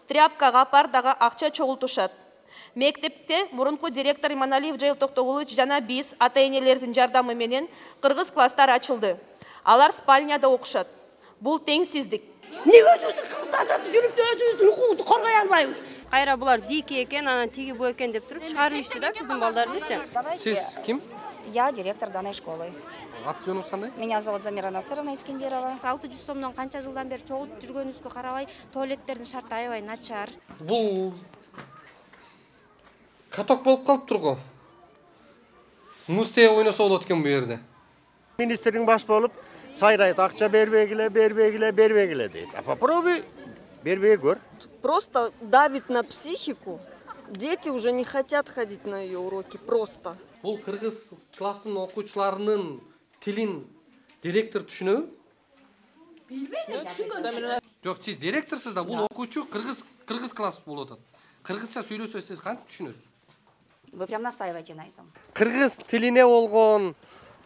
тряпкага, пардага акча чогултушат. Мектепте мурунку директор Иманалиев Жайыл Токтогулович жана биз ата-энелердин жардамы менен кыргыз класстар ачылды. Алар спальняда окушат. Бул теңсиздик. Неге өзүбүздүн кыргызстанда жүрүп өзүбүздүн укугубузду коргой албайбыз? Кайра булар дики экен, анан тиги бу экен деп туруп чыгарышты да биздин балдардычы. Сиз ким? Я директор данной школы. Ат жөнүңүз кандай? Меня зовут Замира Насыровна Искендерова. 600 сомдон канча жылдан бери чогултуп жүргөнүбүзгө карабай, туалеттердин шарты аябай начар. Бул каток болуп калыптыр го. Муз теге ойносо болот экен бу жерде. Министрдин баш болуп сайрайт, акча бербегиле дейт. А попробуй бербей көр. Просто давит на психику. Дети уже не хотят ходить на ее уроки, просто. Бул кыргыз класстын окуучуларынын тилин директор түшүнөбү? Билбейм. Жок, сиз директорсуз да, бул окуучу кыргыз класс болуп атат. Кыргызча сүйлөсө сиз кантип түшүнөсүз? Вы прям настаиваете на этом. Кыргыз тилине болгон,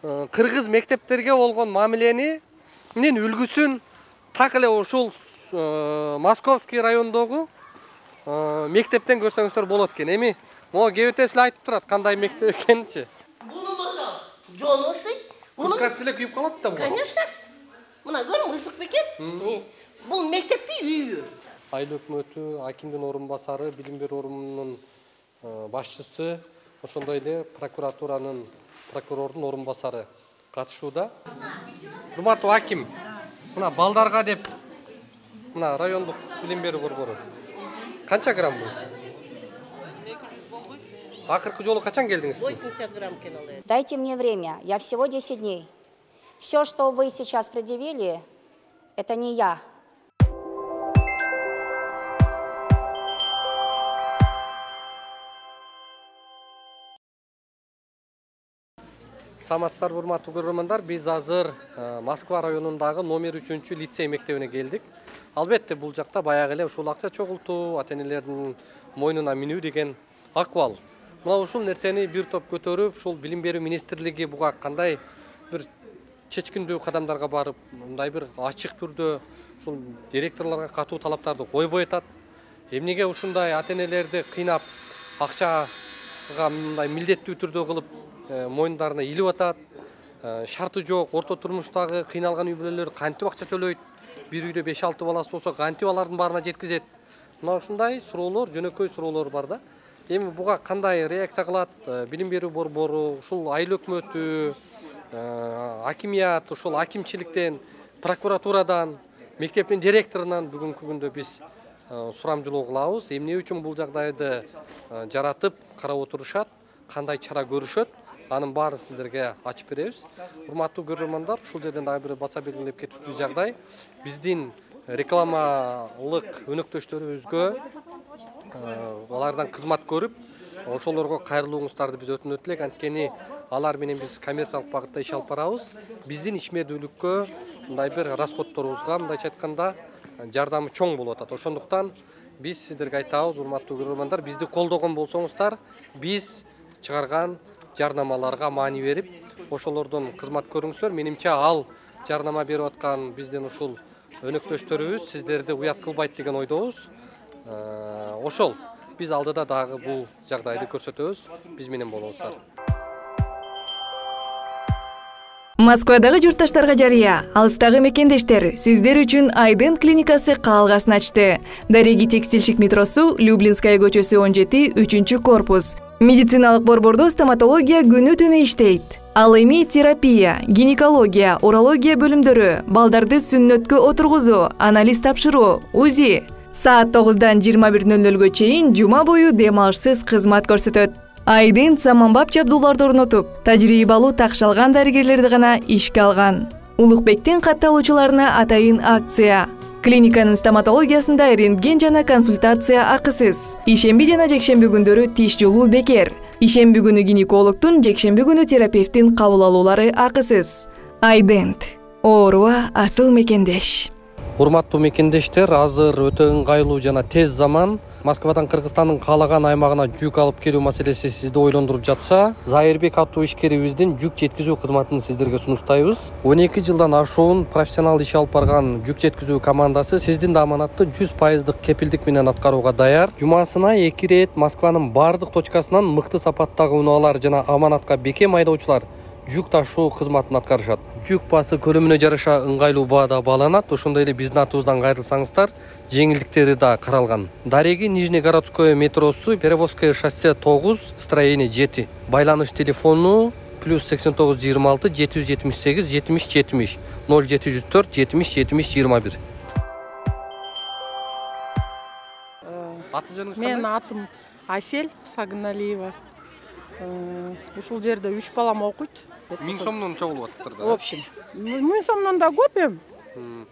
кыргыз мектептерге болгон мамилени менин үлгүсүн так эле ушул Московский райондогу мектептен көрсөңүздөр болот экен. Эми могу кебетесил айтып турат кандай мектеп экенинчи. Булмаса жолу ысый. Курткасы деле күйүп калат да бул. Конечно. Мына көрүң, ысык бекен. Бул мектеппи, үйү. Айыл өкмөтү, акимдин орун басары, билим берүү орунунун башчысы, ошондой эле прокуратуранын прокурордун орун басары катышууда. Урматтуу аким, мына балдарга деп мына райондук билим берүү борбору канча грамм бул? 200 болбойт. Акыркы жолу качан келдиңиз? 80 грамм экен ал. Дайте мне время, я всего 10 дней. Все, что вы сейчас предъявили, это не я. Саламатсыздарбы, урматтуу көрөрмандар, биз азыр Москва районундагы номер 3 лицей мектебине келдик. Албетте бул жакта баягы эле ушул акча чогултуу, ата-энелердин мойнуна минүү деген акыбал. Мына ушул нерсени бир топ көтөрүп, ушул билим берүү министрлиги буга кандай бир чечкиндүү кадамдарга барып, мындай бир ачык түрдө ушул директорлорго катуу талаптарды койбой атат. Эмнеге ушундай ата-энелерди кыйнап, акчага мындай милдеттүү түрдө кылып мойндарына илип атат. Шарты жок, орто турмуштагы кыйналган үй бүлөлөр кантип акча төлөйт? Бир үйдө 5-6 баласы болсо кантип алардын баарына жеткизет? Мына ушундай суроолор, жөнөкөй суроолор бар да. Эми буга кандай реакция кылат билим берүү борбору, ушул айыл өкмөтү, акимият, ушул акимчиликтен, прокуратурадан, мектептин директорунан бүгүнкү күндө биз сурамжылоо кылабыз. Эмне үчүн бул жагдайды жаратып карап отурушат, кандай чара көрүшөт? Анын баарын сиздерге ачып беребиз. Урматтуу көрөрмандар, ушул жерден дагы бир баса белгилеп кетүүчү жагдай. Биздин рекламалык өнөктөштөрүбүзгө алардан кызмат көрүп, ошолорго кайрылууңуздарды биз өтүнөт элек. Анткени алар менен биз коммерциялык багытта иш алып барабыз. Биздин ишмердүүлүккө, мындай бир расходторубузга, мындайча айтканда, жардамы чоң болуп атат. Ошондуктан биз сиздерге айтабыз, урматтуу көрөрмандар, бизди колдогон болсоңуздар, биз чыгарган жарнамаларга маани берип, ошолордон кызмат көрүңүздөр. Менимче ал жарнама берип аткан биздин ушул өнөктөштөрүбүз сиздерди уят кылбайт деген ойдобуз. Ошол биз алдыда дагы бул жагдайды көрсөтөбүз. Биз менен болуңуздар. Москвадагы журтташтарга жарыя, алыстагы мекендештер, сиздер үчүн Айдын клиникасы каалгасын ачты. Дареги текстильщик метросу, Люблинская көчөсү 17, 3 корпус. Медициналык борбордо стоматология күнү-түнү иштейт. Ал эми терапия, гинекология, урология бөлүмдөрү, балдарды сүннөткө отургузуу, анализ тапшыруу, УЗИ. Саат 9-дан 21:00-гө чейин жума бою дем алышсыз кызмат көрсөтөт. Айдын заманбап жабдууларды орнотуп, тажрыйбалуу такшалган дарыгерлерди гана ишке алган. Улукбектин катталуучуларына атайын акция. Клиниканын стоматологиясында рентген жана консультация акысыз. Ишемби жана жекшемби күндөрү тиш жолуу бекер. Ишемби күнү гинекологдун, жекшемби күнү терапевттин кабыл алуулары акысыз. Айдент. Ооруга асыл мекендеш. Урматтуу мекендештер, азыр өтө ыңгайлуу жана тез заман. Москвадан Кыргызстандын каалаган аймагына жүк алып келүү маселеси сизди ойлондуруп жатса, Зайырбек аттуу ишкерибиздин жүк жеткизүү кызматын сиздерге сунуштайбыз. 12 жылдан ашуун профессионал иш алып барган жүк жеткизүү командасы сиздин да аманатты 100% кепилдик менен аткарууга даяр. Жумасына 2 рет Москванын бардык точкасынан мыкты сапаттагы унаалар жана аманатка бекем айдоочулар жүк ташуу кызматын аткарышат. Жүк басы көлөмүнө жараша ыңгайлуу баада бааланат. Ошондой эле биздин атыбыздан кайрылсаңыздар, жеңилдиктери да каралган. Дареги Нижнегородское метросу, Перевозское шоссе 9, строение 7. Байланыш телефону +89 26 778 70 70 0704 70 70 21. Менин атым Айсель Сагыналиева. Ушул жерде 3 балам окуйт. 1000 сомдон чогулуп атыптыр да. В общем, 1000 сомдон да көп эм.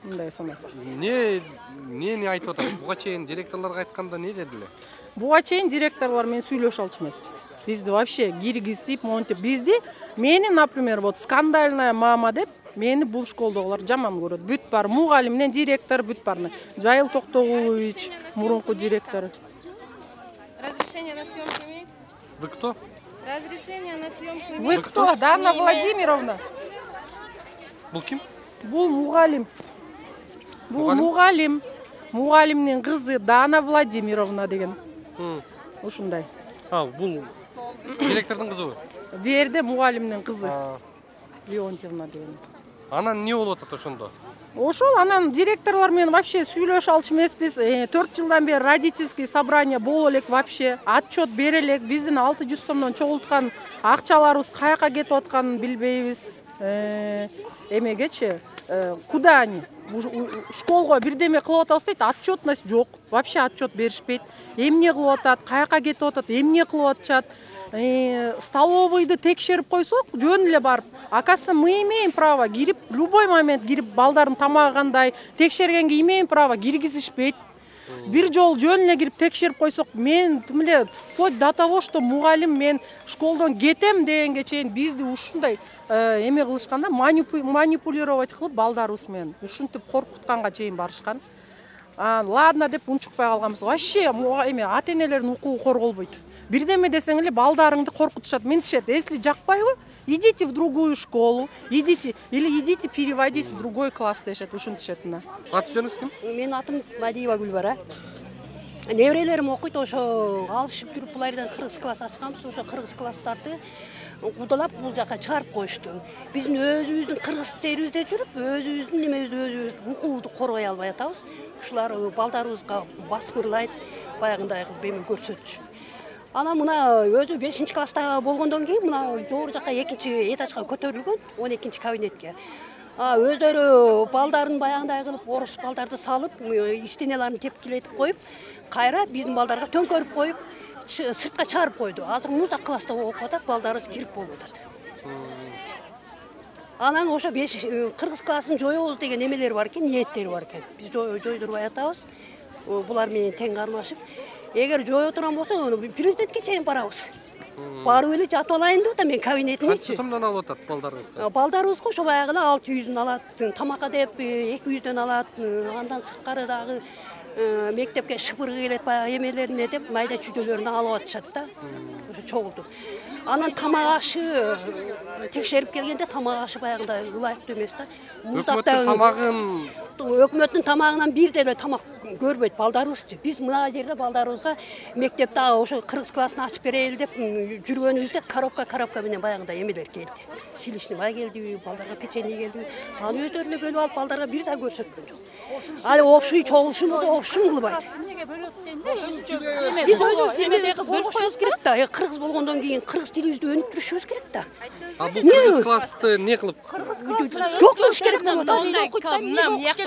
Мындай санасак. Эмнени айтып атат? Буга чейин директорлорго айтканда не дедилер? Буга чейин директорлор менен сүйлөшө алчу эмеспиз. Бизди вообще киргизип, монтип, бизди мени, например, вот скандальная мама деп мени бул школдогулар жаман көрөт. Бүт бар мугалим менен директор бүт бар. Жайыл Токтогулович, мурунку директор. Разрешение на съемку имеется? Вы кто? Разрешение на съемку имеется? Вы кто? Дана Владимировна. Бул ким? Бул мугалим. Бул мугалим. Мугалимдин кызы Дана Владимировна деген. Ушундай. Бул директордун кызыбы? Бу жерде мугалимдин кызы. Леонтьевна деген. Анан эмне болуп атат ошондо? Ошол анан директорлор менен вообще сүйлөшө алчу эмеспиз. 4 жылдан бери родительский собрание боло элек вообще. Отчет бере элек. Биздин 600 сомдон чогулткан акчаларыбыз каяка кетип атканын билбейбиз. Эмегечи? Куда они? Школго бирдеме кылып атабыз дейт, отчетность жок. Вообще отчет беришпейт. Эмне кылып атат, каяка кетип атат, эмне кылып атышат. Столовыйды текшерип койсок, жөн эле барып. Оказывается, мы имеем право кирип, любой момент кирип, балдардын тамагы кандай, текшергенге имеем право, киргизишпейт. Бир жол жөн эле кирип текшерип койсок, мен тим эле вплоть до того, что мугалим мен школдон кетем дегенге чейин бизди ушундай эме кылышканда, манипулировать кылып балдарыбыз менен ушинтип коркутканга чейин барышкан. Ладно деп унчукпай калганбыз. Вообще эме ата-энелердин укугу корголбойт. Бирдеме десең эле балдарыңды коркутушат. Ментишет, если жакпайбы, идите в другую школу, идите переводись в другой класс дешет, ушинтишет мына. Аты жөнүңүз ким? Менин атым Мадиева Гүлбара. Неберелерим окуйт, ошо алышып жүрүп булардан кыргыз класс ачканбыз. Ошо кыргыз класстарды кудалап бул жака чыгарып коюшту. Биздин өзүбүздүн кыргыз жерибизде жүрүп, өзүбүздүн немебизди укуубузду коргой албай атабыз. Ушулар балдарыбызга баскырлайт, баягындай кылып эме көрсөтүшүп. Ана мына өзү 5-класста болгондон кийин мына жогору жака 2 этажга көтөрүлгөн, 12 кабинетке. Өздөрү балдарын баягындай кылып, орус балдарды салып, стенеларын тепкилетип коюп, кайра биздин балдарга төңкөрүп коюп, сыртка чыгарып койду. Азыр муздак класста окуп атат, балдарыбыз кирип болуп атат. Анан ошо кыргыз классын жоёбуз деген эмелер бар экен, ниеттери бар экен. Биз жойдурбай атабыз. Булар менен тең кармашып, эгер жое турган болсо, президентке чейин барабыз. Барып эле жатып алайын деп атам мен кабинетине. Канча сомдон алып атат балдарыбызга? Балдарыбызга ошо баягы 600 алат, тамакка деп 200 алат, андан сырткары дагы мектепке шыпыргы келет, баягы эмелерине деп майда чүйдөлөрүн алып атышат да. Ошо чогултуп. Анан тамак ашы текшерип келгенде тамак ашы баягындай ылайыктуу эмес да. Өкмөттүн тамагынан бир деле тамак көрбөйт балдарыбызчы. Биз мына жерде балдарыбызга мектепте ошо кыргыз классын ачып берели деп жүргөнүбүздө коробка менен баягындай эмелер келди. Силишни май келди, балдарга печенье келди. Аны өздөрүнө бөлүп алып балдарга бир да көрсөткөн жок. Али общий чогулушубузду общий кылбайт. Биз өзүбүз эмелер болушубуз керек да. Кыргыз болгондон кийин кыргыз тилибизди өнүктүрүшүбүз керек да. Бул кыргыз классты эмне кылып? Жок кылыш керек болот.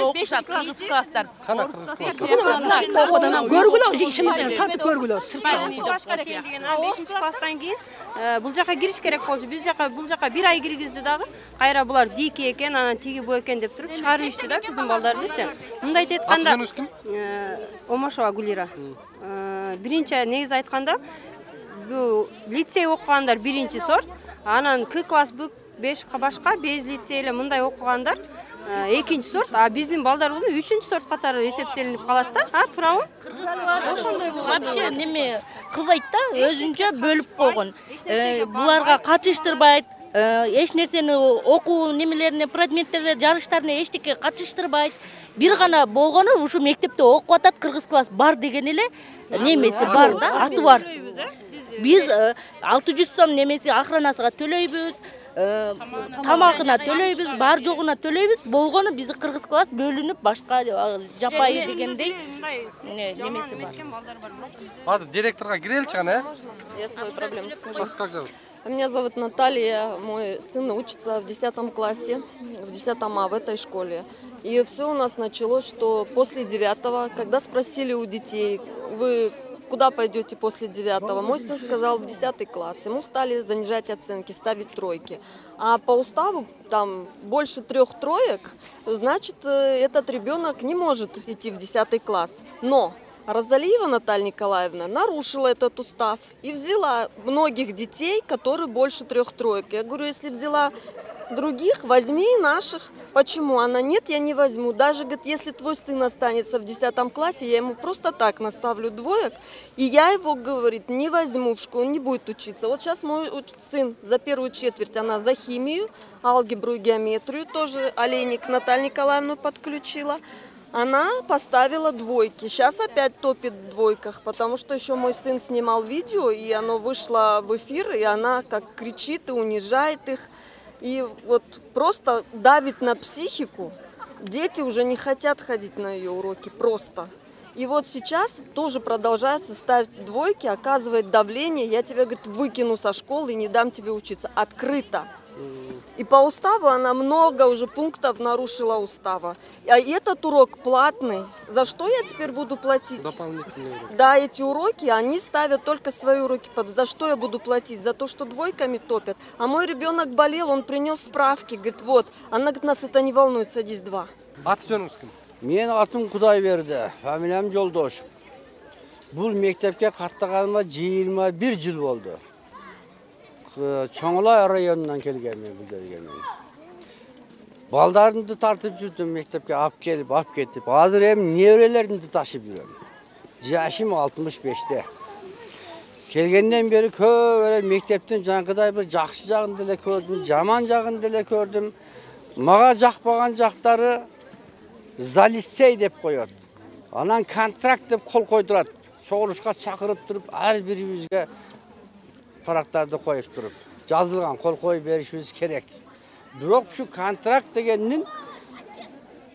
Окушат кыргыз класстар. Кана кыргыз класс? Көргүлө, ишимизден тартып көргүлө. 5 класстан кийин бул жака кириш керек болчу. Бул жака 1 ай киргизди дагы. Кайра булар дики экен, анан тиги бу экен деп туруп чыгарып ичти да биздин балдардычы. Мындайча айтканда, аты жөнүңүз ким? Омошова Гулира. Биринчи негизи айтканда, бул лицей окугандар 1-сорт, анан К класс 5 башка без лицей эле мындай окугандар экинчи сорт, а биздин балдар болсо үчүнчү сорт катары эсептелинип калат да. Туурабы? Ошондой вообще неме кылбайт да, өзүнчө бөлүп койгон. Буларга катыштырбайт, эч нерсени окуу немелерине, предметтерге, жарыштарына эчтеке катыштырбайт. Бир гана болгону ушу мектепте окуп атат, кыргыз класс бар деген эле немеси бар да, аты бар. Биз 600 сом немеси охранасыга төлөйбүз, тамагына төлөйбүз, бар жогуна төлөйбүз. Болгону биз кыргыз класс бөлүнүп башка жапайы дегендей немеси бар. Азыр директорго киреличи кана, Я свою проблему скажу. Как зовут? Меня зовут Наталья, мой сын учится в 10 классе, в 10 А в этой школе. И все у нас началось, что после 9, когда спросили у детей, вы куда пойдете после 9, мой сын сказал в 10 класс. Ему стали занижать оценки, ставить тройки. А по уставу там больше 3 троек, значит, этот ребенок не может идти в 10 класс. Но Розалиева Наталья Николаевна нарушила этот устав и взяла многих детей, которые больше 3 троек. Я говорю, если взяла других, возьми и наших. Почему? Она, нет, я не возьму. Даже, говорит, если твой сын останется в 10 классе, я ему просто так наставлю двоек, и я его, говорит, не возьму в школу, он не будет учиться. Вот сейчас мой сын за первую четверть, она за химию, алгебру и геометрию, тоже Олейник Наталью Николаевну подключила. Она поставила двойки. Сейчас опять топит в двойках, потому что еще мой сын снимал видео, и оно вышло в эфир, и она как кричит и унижает их. И вот просто давит на психику. Дети уже не хотят ходить на ее уроки, просто. И вот сейчас тоже продолжается ставить двойки, оказывает давление. Я тебя, говорит, выкину со школы и не дам тебе учиться. Открыто. И по уставу она много уже пунктов нарушила устава. А этот урок платный. За что я теперь буду платить? Дополнительные уроки. Да, эти уроки, они ставят только свои уроки. За что я буду платить? За то, что двойками топят. А мой ребенок болел, он принес справки. Говорит, вот. Она говорит, нас это не волнует, садись 2. Аты жөнүңүз ким? Мен атым Кудайберди, фамилиям Жолдош. Бул мектепке каттаганыма 21 жыл болду. Чоңлай районунан келгенмин бул жерге. Балдарымды тартып жүрдүм мектепке, алып келип, алып кетип. Азыр эми неберелеримди ташып жүрөм. Жашым 65те. Келгенден бери көп эле мектептин жанагыдай бир жакшы жагын деле көрдүм, жаман жагын деле көрдүм. Мага жакпаган жактары залиссей деп коет. Анан контракт деп кол койдурат. Чогулушка чакырып туруп, ар бирибизге парактарды коюп туруп, жазылган кол коюп беришибиз керек. Бирок ушу контракт дегендин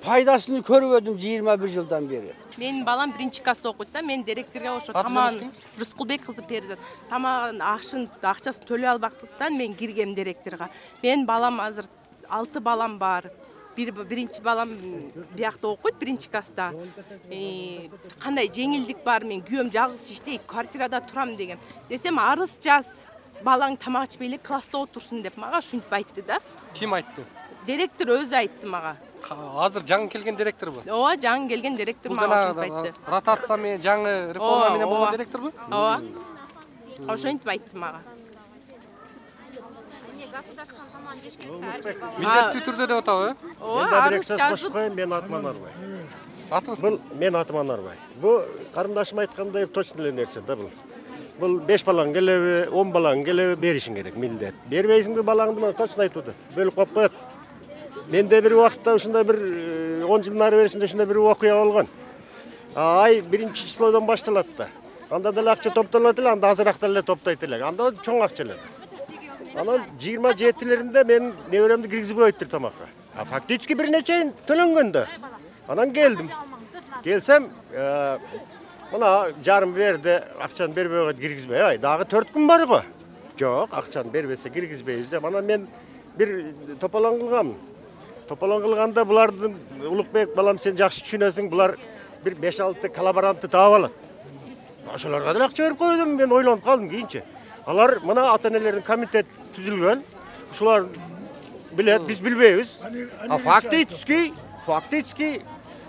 пайдасын көрбөдүм 21 жылдан бери. Менин балам 1-класста окуйт да, мен директорго ошо тамагын Рыскулбек кызы Перизат, тамагын акчасын төлөй албактыктан мен киргем директорго. Менин балам азыр 6 балам бар. Биринчи балам биякта окуйт, 1-класста. Кандай жеңилдик бар, мен күйөөм жалгыз иштейт, квартирада турам деген. Десем, арыз жаз, балаң тамак ичпей эле класста отурсун деп мага ушинтип айтты да. Ким айтты? Директор өзү айтты мага. Азыр жаңы келген директорбу? Ооба, жаңы келген директор мага ушинтип айтты. Ротация менен жаңы реформа менен болгон директорбу? Ооба. Ошентип айтты мага. Милдеттүү түрдө деп атабы? Ооба, арыз жазып. Мен атым Анарбай. Атыңыз ким? Мен атым Анарбай. Бул карындашым айткандай точно эле нерсе да бул. Бул 5 балаң келеби, 10 балаң келеби беришиң керек милдет. Бербейсиңби балаңды мына точно айтып атат. Бөлүп коюп коет. Менде бир убакытта ушундай бир 10 жыл нары берисинде ушундай бир окуя болгон. Ай 1-числодон башталат да. Анда деле акча топтолот эле, анда азыраак деле топтойт эле. Анда чоң акча эле. Анан 27-леринде мен неберемди киргизип коюптур тамакка. А фактически бир нече төлөнгөн да. Анан келдим. Келсем, мына жарым берди, акчаны бербей койду, киргизбей. Ай, дагы 4 күн бар го. Жок, акчаны бербесе киргизбейбиз деп. Анан мен бир тополоң кылгам. Тополоң кылганда булардын Улукбек балам сен жакшы түшүнөсүң, булар бир 5-6 коллаборантты таап алат. Ошолорго деле акча берип койдум, мен ойлонуп калдым кийинче. Алар мына ата-энелердин комитет түзүлгөн. Ушулар билет, биз билбейбиз. А фактически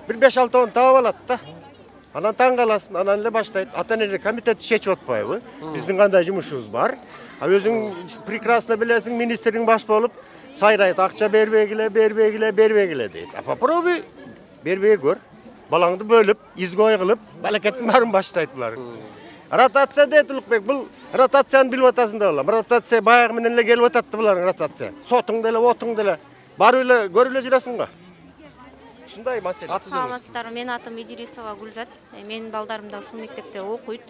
бир 5-6 таап алат да. Анан таң каласың, анан эле баштайт. Ата-энелер комитети чечип атпайбы? Биздин кандай жумушубуз бар? А өзүң прекрасно билесиң, министрдин баш болуп, сайрайт, акча бербегиле дейт. А попробуй бербей көр. Балаңды бөлүп, изгой кылып, балакеттин баарын баштайт булар. Ротация дейт Улукбек, бул ротацияны билип атасың да балам. Ротация баягы менен эле келип атат булар ротация. Сотуң деле, отуң деле барып эле көрүп эле жүрөсүң го. Ушундай маселе. Саламатсыздарбы, менин атым Идирисова Гүлзат. Менин балдарым да ушул мектепте окуйт.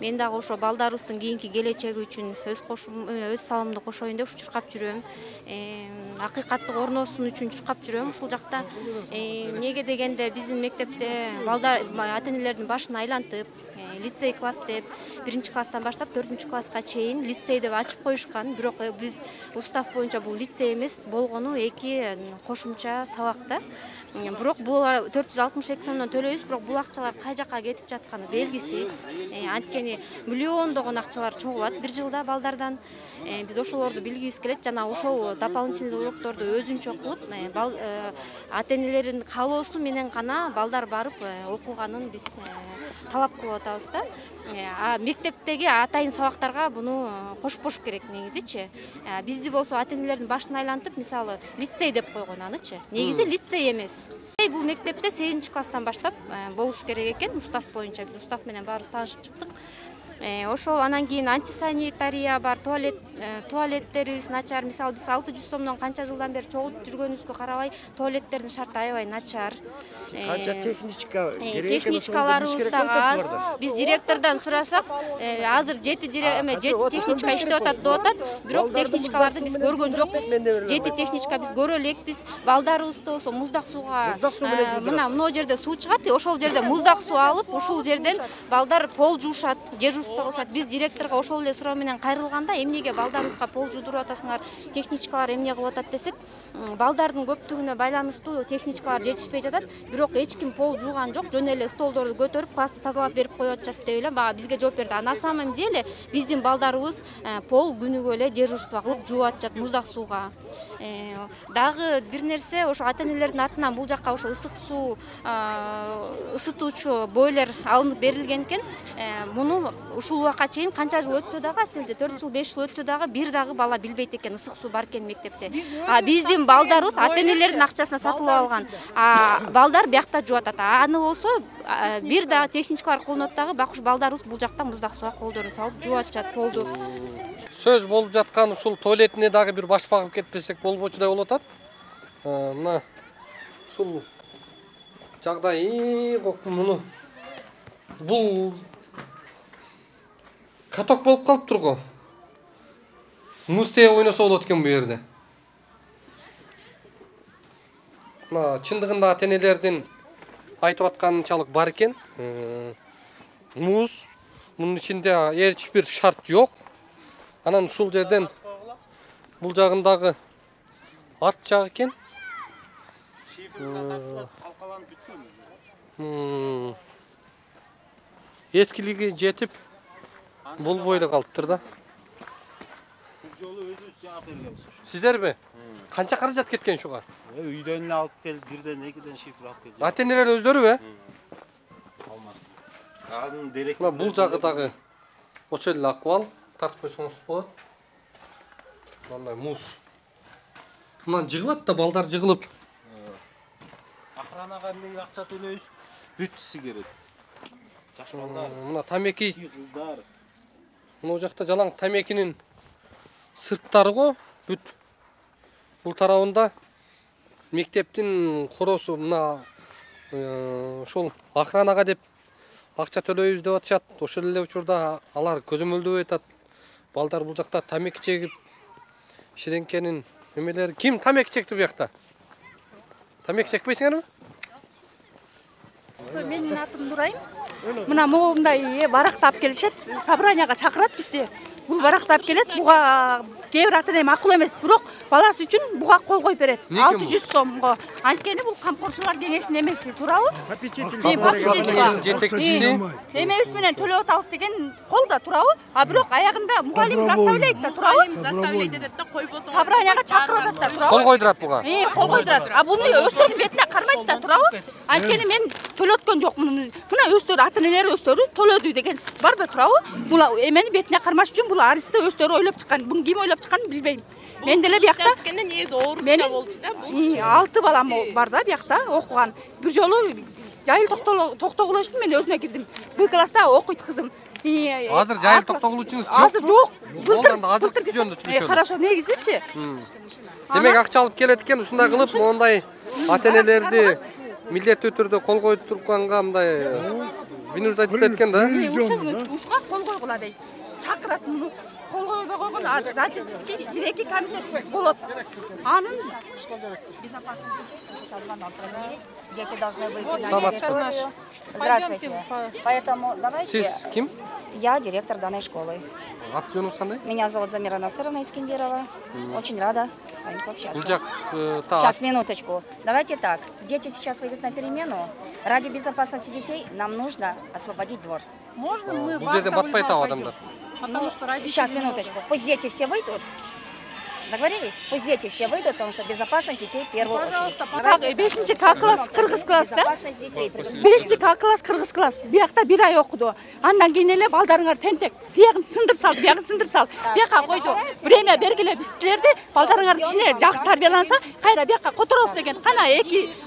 Мен дагы ошо балдарыбыздын кийинки келечеги үчүн өз салымды кошоюн деп чуркап жүрөм. Акыйкаттык орносун үчүн чуркап жүрөм ушул жакта. Эмнеге дегенде биздин мектепте балдар ата-энелердин башын айлантып, лицей класс деп 1-класстан баштап 4-класска чейин лицей деп ачып коюшкан. Бирок биз устав боюнча бул лицей эмес, болгону 2 кошумча сабак да. Бирок бул 462 сомдон төлөйбүз, бирок бул акчалар кай жакка кетип жатканы белгисиз. Анткени миллиондогон акчалар чогулат бир жылда балдардан. Биз ошолорду билгибиз келет, жана ошол дополнительный урокторду өзүнчө кылып, ата-энелердин каалоосу менен гана балдар барып окуганын биз талап кылып атабыз да. Мектептеги атайын сабактарга буну кошпош керек негизичи. Бизди болсо ата-энелердин башын айлантып, мисалы, лицей деп койгон анычы. Негизи лицей эмес. Бул мектепте 8-класстан баштап болуш керек экен, устав боюнча. Биз устав менен баарыбыз таанышып чыктык. Ошол анан кийин антисанитария бар, туалеттерибиз начар. Мисалы, биз 600 сомдон канча жылдан бери чогултуп жүргөнүбүзгө карабай, туалеттердин шарты аябай начар. Канча техничка керек экен, техничкаларыбыз дагы аз. Биз директордон сурасак, азыр 7 техничка иштеп атат деп атат, бирок техничкаларды биз көргөн жокпуз. 7 техничка биз көрө элекпиз. Балдарыбызды болсо муздак сууга, мына жерде суу чыгат, ошол жерде муздак суу алып, ушул жерден балдар пол жуушат, дежурство кылышат. Биз директорго ошол эле суроо менен кайрылганда, эмнеге балдарыбызга пол жуудуруп атасыңар, техничкалар эмне кылып атат десек, балдардын көптүгүнө байланыштуу техничкалар жетишпей жатат. Бирок эч ким пол жууган жок, жөн эле столдорду көтөрүп, классты тазалап берип коюп атышат деп эле бизге жооп берди. На самом деле биздин балдарыбыз пол күнүгө эле дежурство кылып жууп атышат муздак сууга. Дагы бир нерсе, ошо ата-энелердин атынан бул жакка ошо ысык суу ысытуучу бойлер алынып берилген экен. Муну ушул убакка чейин канча жыл өтсө дагы, сенже 4 жыл 5 жыл өтсө дагы бир дагы бала билбейт экен ысык суу бар экен мектепте. Биздин балдарыбыз ата-энелердин акчасына сатылып алган. Балдар биякта жууп атат. Аны болсо бир дагы техничкалар колдонот дагы, бакуш балдарыбыз бул жакта муздак сууга колдорун салып жууп атышат полду. Сөз болуп жаткан ушул туалетине дагы бир баш багып кетпесек болбочудай болуп атат. Мына ушул жагдай муну бул каток болуп калыптыр го. Муз теге ойносо болот экен бу жерде. Мына чындыгында ата-энелердин айтып атканчалык бар экен. Муз, мунун ичинде эч бир шарт жок. Анан ушул жерден бул жагындагы арт жак экен. Эскилиги жетип болбой эле калыптыр да. Сиздерби? Канча каражат кеткен ушуга? Үйдөн эле алып келип, бирден экиден шифр алып келип. Ата-энелер өздөрүбү? Анын дерек. Мына бул жагы дагы ошол эле акыбал, тартып койсоңуз болот. Мындай муз. Мына жыгылат да, балдар жыгылып. Охранага эмнеге акча төлөйбүз? Бүт сигарет. Жаш балдар. Мына тамеки. Мына жакта жалаң тамекинин сырттары го, бүт. Бул тарабында мектептин коросу мына ошол охранага деп акча төлөйбүз деп атышат. Ошол эле учурда алар көзөмөлдөп атат. Балдар бул жакта тамеки чегип, ширеңкенин эмелери. Ким тамеки чекти бу жакта? Тамеки чекпейсиңерби? Менин атым Нурайым. Мына моундай баракты алып келишет, собранияга чакырат бизди. Бул баракты алып келет, буга кээ бир ата-эне макул эмес, бирок баласы үчүн буга кол коюп берет. 600 сомго. Анткени бул камкорчулар кеңешинин эмеси, туурабы? Жетекчиси. Эмебиз менен төлөп атабыз деген колда, туурабы? А бирок аягында мугалим заставляйт да, туурабы? Заставляйт этет да, койбосо. Собранияга чакырып атат да, туурабы? Кол койдурат буга. Кол койдурат. А буну өздөрүнүн бетине кармайт да, туурабы? Анткени мен төлөткөн жокмун. Мына өздөрү ата-энелер өздөрү төлөдү деген бар да турабы? Бул эмени бетине кармаш үчүн бул арызды өздөрү ойлоп чыккан. Буну ким ойлоп чыкканын билбейм. Мен деле биякта негизи орусча болчу да. 6 балам бар да биякта окуган. Бир жолу Жайыл Токтогуловичтин мен өзүнө кирдим. Б класста окуйт кызым. Азыр Жайыл Токтогуловичиңиз жок. Азыр жок. Былтыр Хорошо, негизичи. Демек акча алып келет экен, ушундай кылып мондай ата-энелерди милдеттүү түрдө кол коюп турганга мындай вынуждать этет экен да. Ушуга кол койгула дейт. Чакырат муну. Кол койбой койгон родительский директор комитет болот. Анын Дети должны выйти на директор. Здравствуйте. Поэтому давайте... Сиз ким? Я директор данной школы. Аты-жөнүңүз кандай? Меня зовут Замира Насыровна Искендерова. Очень рада с вами пообщаться. Сейчас, Сейчас, минуточку. Давайте так. Дети сейчас выйдут на перемену. Ради безопасности детей нам нужно освободить двор. Можно мы Бул жерден батпай атабы адамдар. Потому что ради... Сейчас, минуточку. Пусть дети все выйдут. Договорились? Пусть дети все выйдут, потому что безопасность детей в первую очередь. Так, 5 класс, кыргыз класс, да? Безопасность детей. 5 класс, кыргыз класс. Биякта 1 ай окуду. Андан кийин эле балдарыңар тентек. Биягын сындыр сал, биягын сындыр сал. Бияка койду. Время бергиле биз силерди. Балдарыңар кичине жакшы тарбияланса, кайра бияка которобуз деген. Кана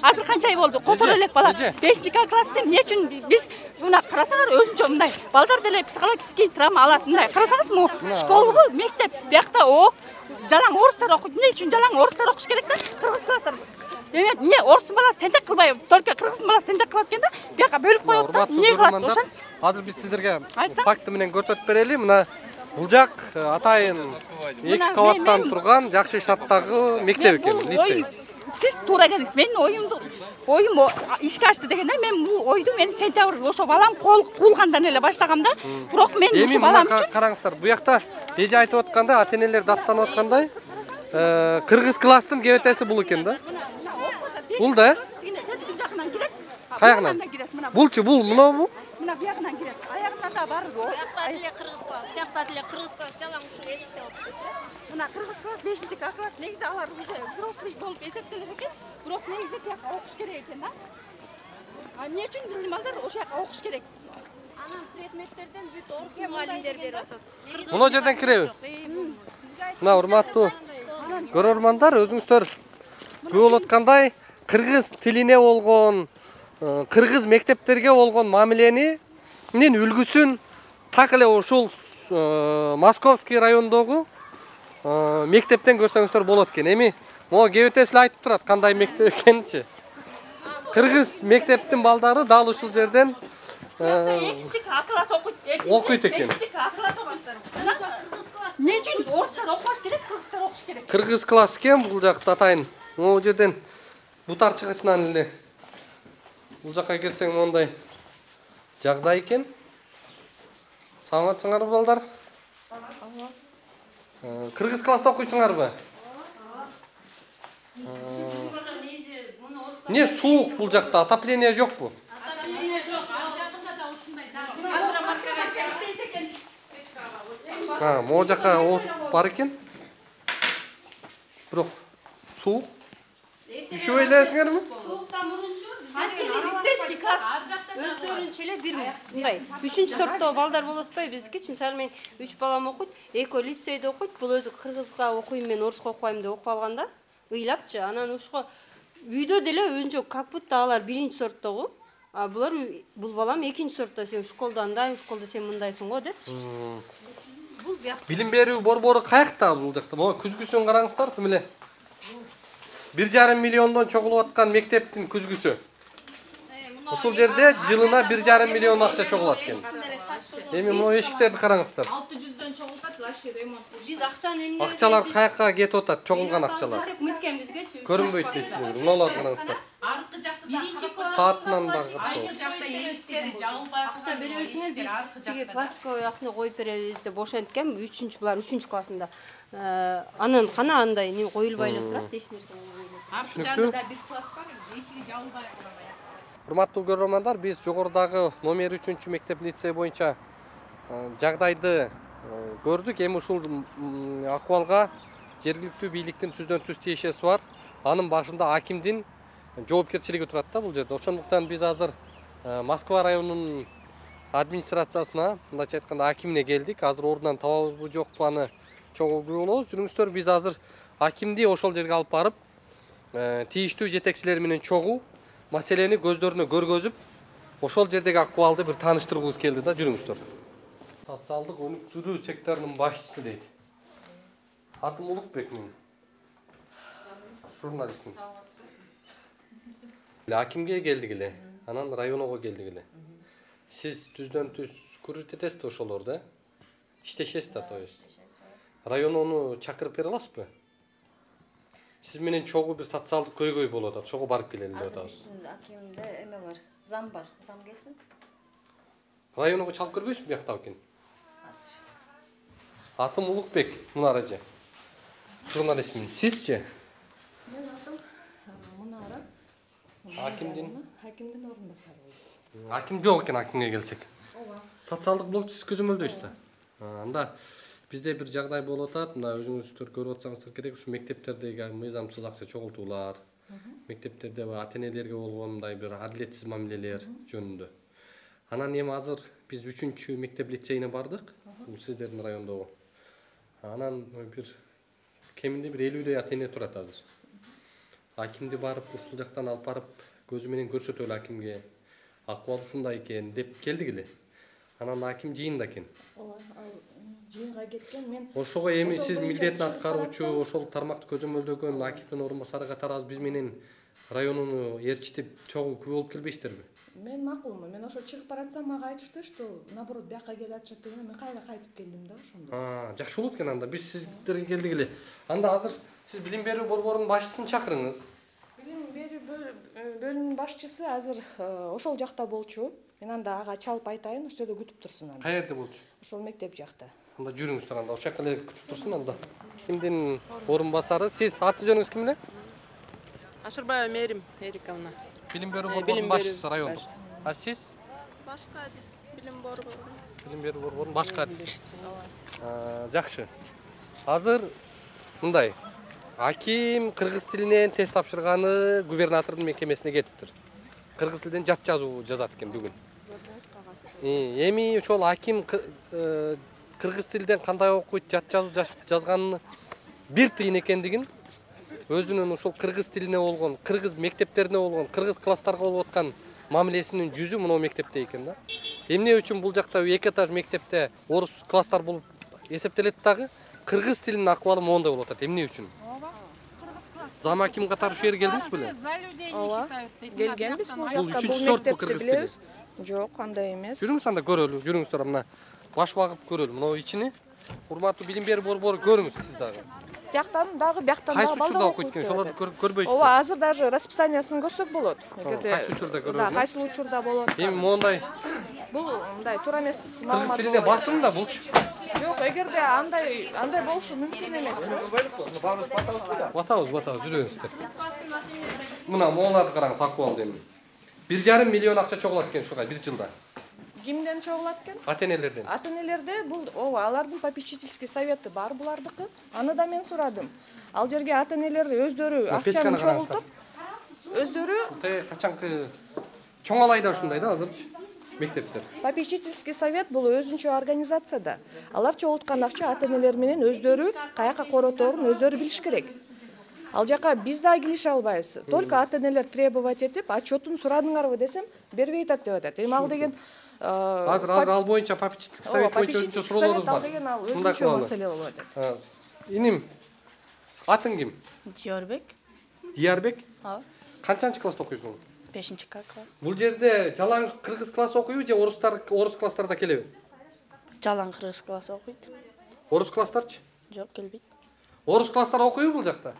азыр канча ай болду? Которо элек бала. 5 класс эмне үчүн биз мына карасаңар өзүнчө мындай. Балдар деле психологический травма алат. Мындай карасаңызмы? Школа, мектеп, биякта ок. Жалаң орустар окуйт. Эмне үчүн жалаң орустар окуш керек да? Кыргыз класстар. Эмне орустун баласы тентек кылбай, только кыргыздын баласы тентек кылат экен да? Бияка бөлүп коюп да. Эмне кылат ошон? Азыр биз сиздерге факты менен көрсөтүп берели. Мына бул жак атайын 2 кабаттан турган жакшы шарттагы мектеп экен, лицей. Сиз туура келиңиз. Менин оюм ишке ашты дегенде мен бул ойду мен сентябрь ошо балам куулгандан эле баштагам да. Бирок мен ошо балам үчүн караңыздар, бу жакта эже айтып атканда, ата-энелер даттанып аткандай, кыргыз класстын кебетеси бул экен да. Бул да? Каягынан? Булчу, бул, мынабу? Мына биягынан кирет. Аягында да бар. Биякта деле кыргыз класс, тиякта деле кыргыз класс жалаң ушу эшикте окуйт. Мына кыргыз класс 5 класс негизи алар уже взрослый болуп эсептелет экен. Бирок негизи тияка окуш керек экен да. А эмне үчүн биздин балдар ошол жака окуш керек? Анан предметтерден бүт орус мугалимдер берип атат. Мына жерден киреби? Мына урматтуу көрөрмандар, өзүңүздөр көрүп аткандай кыргыз тилине болгон, кыргыз мектептерге болгон мамиленин үлгүсүн так эле ушул Московский райондогу мектептен көрсөңүздөр болот экен. Эми могу кебетеси айтып турат кандай мектеп экенинчи. Кыргыз мектептин балдары дал ушул жерден 2 класс окуйт экен. 5 класс окуйсуздар. Эмне үчүн орустар окубаш керек, кыргыздар окуш керек? Кыргыз класс экен бул жакта атайын. Могу жерден бутар чыгышынан эле бул жакка кирсең мондай жагдай экен. Саламатсыңарбы балдар? Кыргыз класста окуйсуңарбы? Не суук бул жакта, отопление жокпу? Могу жака от бар экен. Бирок суук. Üşüp элесиңерби? Сууктан мурунчу лицейский класс өздөрүнчө эле бир мындай 3-сорттогу балдар болот атпайбы биздикичи? Мисалы мен 3 балам окуйт, экөө лицейде окуйт, бул өзү кыргызга окуйм, мен орусга окубайм деп окуп алганда, ыйлапчы. Анан ушуга үйдө деле өзүнчө как будто алар 1-сорттогу, а булар бул балам 2-сортто, сен школда андай, школда сен мындайсың го депчи. Билим берүү борбору каякта бул жакта? Могу күзгүсүн караңыздар, тим эле 1,5 миллиондон чогулуп аткан мектептин күзгүсү. Ушул жерде жылына 1,5 миллион акча чогулат экен. Эми могу эшиктерди караңыздар. 600дөн чогултат вообще ремонт. Биз акчаны эмне? Акчалар каяка кетип атат, чогулган акчалар? Үмүткөн бизгечи. Көрүнбөйт дейсиңер. Мыналарды караңыздар. Аркы жакта Саатынан дагы аркы жакта эшиктери жабылбай акча беребизиңер, биз тиги пластиковый акчаны коюп беребиз деп ошенткен, булар 3 классында. Анан кана андай не коюлбай эле турат, эч нерсе коюлбай. Аркы жагында бир класс бар, эшиги жабылбай турат. Урматтуу көрөрмандар, биз жогорудагы номер 3 мектеп лицей боюнча жагдайды көрдүк. Эми ушул акыбалга жергиликтүү бийликтин түздөн түз тиешеси бар. Анын башында акимдин жоопкерчилиги турат да бул жерде. Ошондуктан биз азыр Москва районунун администрациясына, мындайча айтканда акимине келдик. Азыр ордунан табабызбы жокпу аны чогуу көрүү болобуз. Жүрүңүздөр, биз азыр акимди ошол жерге алып барып, тийиштүү жетекчилер менен чогуу маселени көздөрүнө көргөзүп, ошол жердеги акыбалды бир тааныштыргыбыз келди да. Жүрүңүздөр. Социалдык өнүктүрүү секторунун башчысы дейт. Атым Улукбек мен. Журналистмин. Акимге келдик эле, анан районго келдик эле. Сиз түздөн-түз күрөт этесизби ошолорду? Иштешесиз да, то есть. Районону чакырып бере аласызбы? Сиз менен чогуу бир социалдык көйгөй болуп атат, чогуу барып келели деп атабыз. Акимде эме бар, зам бар, зам келсин. Районго чалып көрбөйсүзбү бияктап экен? Атым Улукбек, Мунара эже. Журналистмин. Сизчи? Мен атым Мунара. Акимдин орунбасары. Аким жок экен, акимге келсек. Социалдык блокты сиз көзөмөлдөйсүз да. Анда бизде бир жагдай болуп атат. Мына өзүңүздөр көрүп атсаңыздар керек, ушу мектептердеги мыйзамсыз акча чогултуулар, мектептерде ата-энелерге болгон мындай бир адилетсиз мамилелер жөнүндө. Анан эми азыр биз 3-чү мектеп лицейине бардык. Бул сиздердин райондогу. Анан бир кеминде бир 50дей ата-эне турат азыр. Акимди барып, ушул жактан алып барып, көзү менен көрсөтөлү акимге. Акыбал ушундай экен деп келдик эле. Анан аким жыйында экен. Жыйынга кеткен мен. Ошого эми сиз милдетин аткаруучу, ошол тармакты көзөмөлдөгөн акимдин орунбасары катары биз менен районуну ээрчитип чогуу күбө болуп келбейсиздерби? Мен макулмун. Мен ошо чыгып баратсам мага айтышты, что наоборот бияка келе атышат деген. Мен кайра кайтып келдим да ошондо. Жакшы болот экен анда. Биз сиздерге келдик эле. Анда азыр сиз билим берүү борборунун башчысын чакырыңыз. Билим берүү бөлүмүнүн башчысы азыр ошол жакта болчу. Мен анда ага чалып айтайын, ошол жерде күтүп турсун анда. Каерде болчу? Ошол мектеп жакта. Анда жүрүңүздөр, анда ошол жакка эле күтүп турсун анда. Кимдин орунбасары? Сиз аты жөнүңүз ким эле? Ашырбаева Мерим Эриковна. Билим берүү борборунун башчысы райондук. А сиз? Башка адис билим борбору. Билим берүү борборунун башка адиси. Жакшы. Азыр мындай. Аким кыргыз тилинен тест тапшырганы губернатордун мекемесине кетиптир. Кыргыз тилинен жат жазуу жазат экен бүгүн. Эми ошол аким кыргыз тилинен кандай окуйт, жат жазуу жазганын бир тыйын экендигин, өзүнүн ошол кыргыз тилине болгон, кыргыз мектептерине болгон, кыргыз класстарга болуп аткан мамилесинин жүзү мына мектепте экен да. Эмне үчүн бул жакта 2 этаж мектепте орус класстар болуп эсептелет дагы, кыргыз тилинин акыбалы моундай болуп атат. Эмне үчүн? Зам аким катары ушул жерге келдиңиз беле? Ооба. Келгенбиз бул Бул жакта. 3-чү сорт кыргыз тили. Жок, андай эмес. Жүрүңүз анда көрөлү, жүрүңүздөр мына баш багып көрөлү. Мына ичини. Урматтуу билим берүү борбору көрүңүз сиз дагы. Тияктан дагы, бияктан дагы балдар учурда окуйт экен, ошолорду көрбөйсүзбү? Ооба, азыр даже расписаниясын көрсөк болот. Кайсы учурда көрөлү? Да, кайсы учурда болот. Эми моундай Бул мындай туура эмес кыргыз тилине басым да булчу. Жок, эгерде андай болушу мүмкүн эмес. Батабыз, жүрүңүздөр. Мына моуларды караңыз, акыбалды эми. 1,5 миллион акча чогулат экен ушуга бир жылда. Кимден чогулат экен? Ата-энелерден. Ата-энелерде бул алардын попечительский совети бар булардыкы. Аны да мен сурадым. Ал жерге ата-энелер өздөрү акчаны чогултуп, өздөрү качанкы чоңалайда ушундай да азырчы мектептер. Попечительский совет бул өзүнчө организация да. Алар чогулткан акча ата-энелер менен өздөрү каяка короторун өздөрү билиш керек. Ал жака биз да келише албайбыз. Только ата-энелер требовать этип, отчетун сурадыңарбы десем, бербей атат деп атат. Эми ал деген азыр ал боюнча попечительский совет боюнча өзүнчө суроолорубуз бар. Өзүнчө маселе болуп атат. Иним, атың ким? Диярбек. Диярбек? Канчанчы класста окуйсуң? 5-класс. Бул жерде жалаң кыргыз класс окуйбу же орус класстарда келеби? Жалаң кыргыз класс окуйт. Орус класстарчы? Жок, келбейт. Орус класстар окуйбу бул жакта?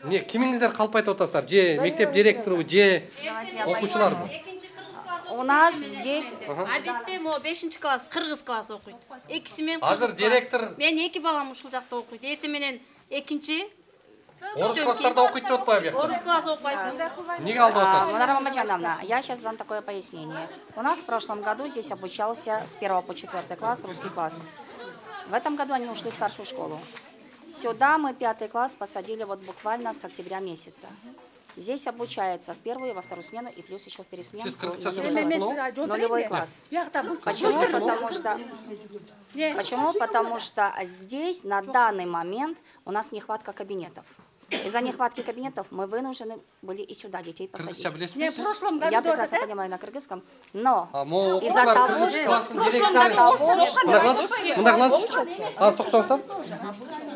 Эмне кимиңиздер калп айтып атасыздар? Же мектеп директору, же окуучуларбы? У нас здесь... Абетте мо 5-класс, кыргыз класс окуйт. Экиси мен кыргыз. Азыр директор... Мен 2 балам ушул жакта окуйт. Эрте менен экинчи... Орус класстарда окуйт деп атпайбы бияқта? Орус класс окуйт. Неге алдап атасыз? Мунара Мамаджановна, я сейчас дам такое пояснение. У нас в прошлом году здесь обучался с 1 по 4 класс русский класс. В этом году они ушли в старшую школу. Сюда мы 5 класс посадили вот буквально с октября месяца. Здесь обучается в первую и во вторую смену, и плюс еще в пересменку кыргызча нулевой класс. Почему? Потому что здесь на данный момент у нас нехватка кабинетов. Из-за нехватки кабинетов мы вынуждены были и сюда детей посадить. Я прекрасно понимаю на кыргызском, но из-за того, что...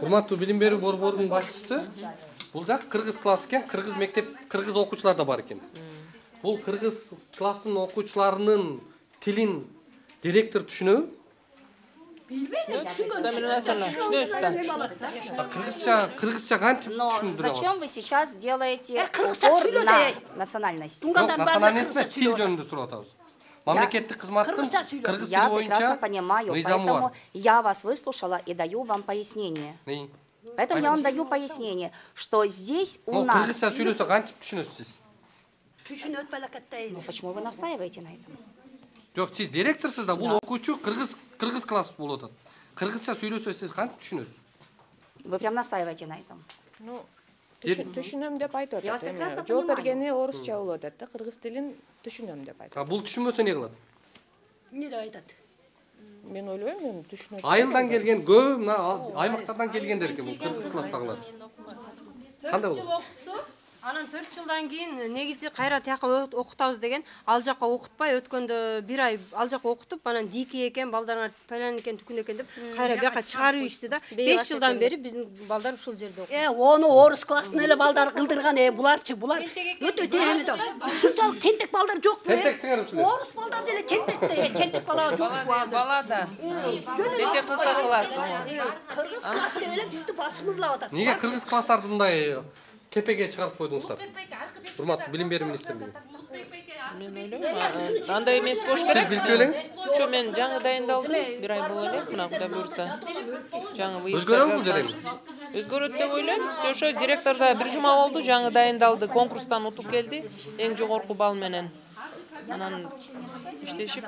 Урматтуу билим берүү борборунун башчысы, бул жак кыргыз класс экен, кыргыз мектеп, кыргыз окуучулар да бар экен. Бул кыргыз класстын окуучуларынын тилин директор түшүнөбү? Кыргызча кантип түшүндүрө? Зачем вы сейчас делаете упор на национальность? Национальность эмес, тил жөнүндө сурап атабыз. Мамлекеттик кызматтын кыргыз тили боюнча прекрасно понимаю, поэтому я вас выслушала и даю вам пояснение. Поэтому я вам даю пояснение, что здесь у нас... Кыргызча сүйлөсө кантип түшүнөсүз? Почему вы настаиваете на этом? Жок, сиз директорсуз да, бул окуучу кыргыз класс болуп атат. Кыргызча сүйлөсө сиз кантип түшүнөсүз? Вы прям настаиваете на этом. Түшүнөм деп айтып атат. Жооп бергени орусча болуп атат да, кыргыз тилин түшүнөм деп айтат. Бул түшүнбөсө эмне кылат? Эмне деп айтат? Мен ойлойм, мен түшүнөм. Айылдан келген, көп мына аймактардан келгендер экен бул кыргыз класстагылар. Кандай болот? Анан 4 жылдан кийин негизи кайра тияка окутабыз деген, ал жака окутпай өткөндө 1 ай ал жака окутуп, анан дики экен, балдарыңар палан экен, түкүн экен деп кайра бияка чыгарып ишти да. 5 жылдан бери биздин балдар ушул жерде окуйт. Ону орус класстын эле балдары кылдырган, буларчы, булар өтө тегемидер. Ушунчалык тентек балдар жок. Тентексиңер ушул. Орус балдар деле тентек бала жок. Бала да. Тентек кылса кылат. Кыргыз классы эле бизди басымырлап атат. Неге кыргыз класстарды мындай кепеге чыгарып койдуңуздар? Урматтуу билим берүү министрлиги. Мен ойлойм, андай эмес болуш керек. Сиз билчү элеңиз? Жок, мен жаңы дайындалдым, 1 ай боло элек, мына Кудай буйрса. Жаңы Өзгөрөбү бул жерде? Өзгөрөт деп ойлойм. Ошо директор да 1 жума болду, жаңы дайындалды, конкурстан утуп келди, эң жогорку балл менен. Анан иштешип,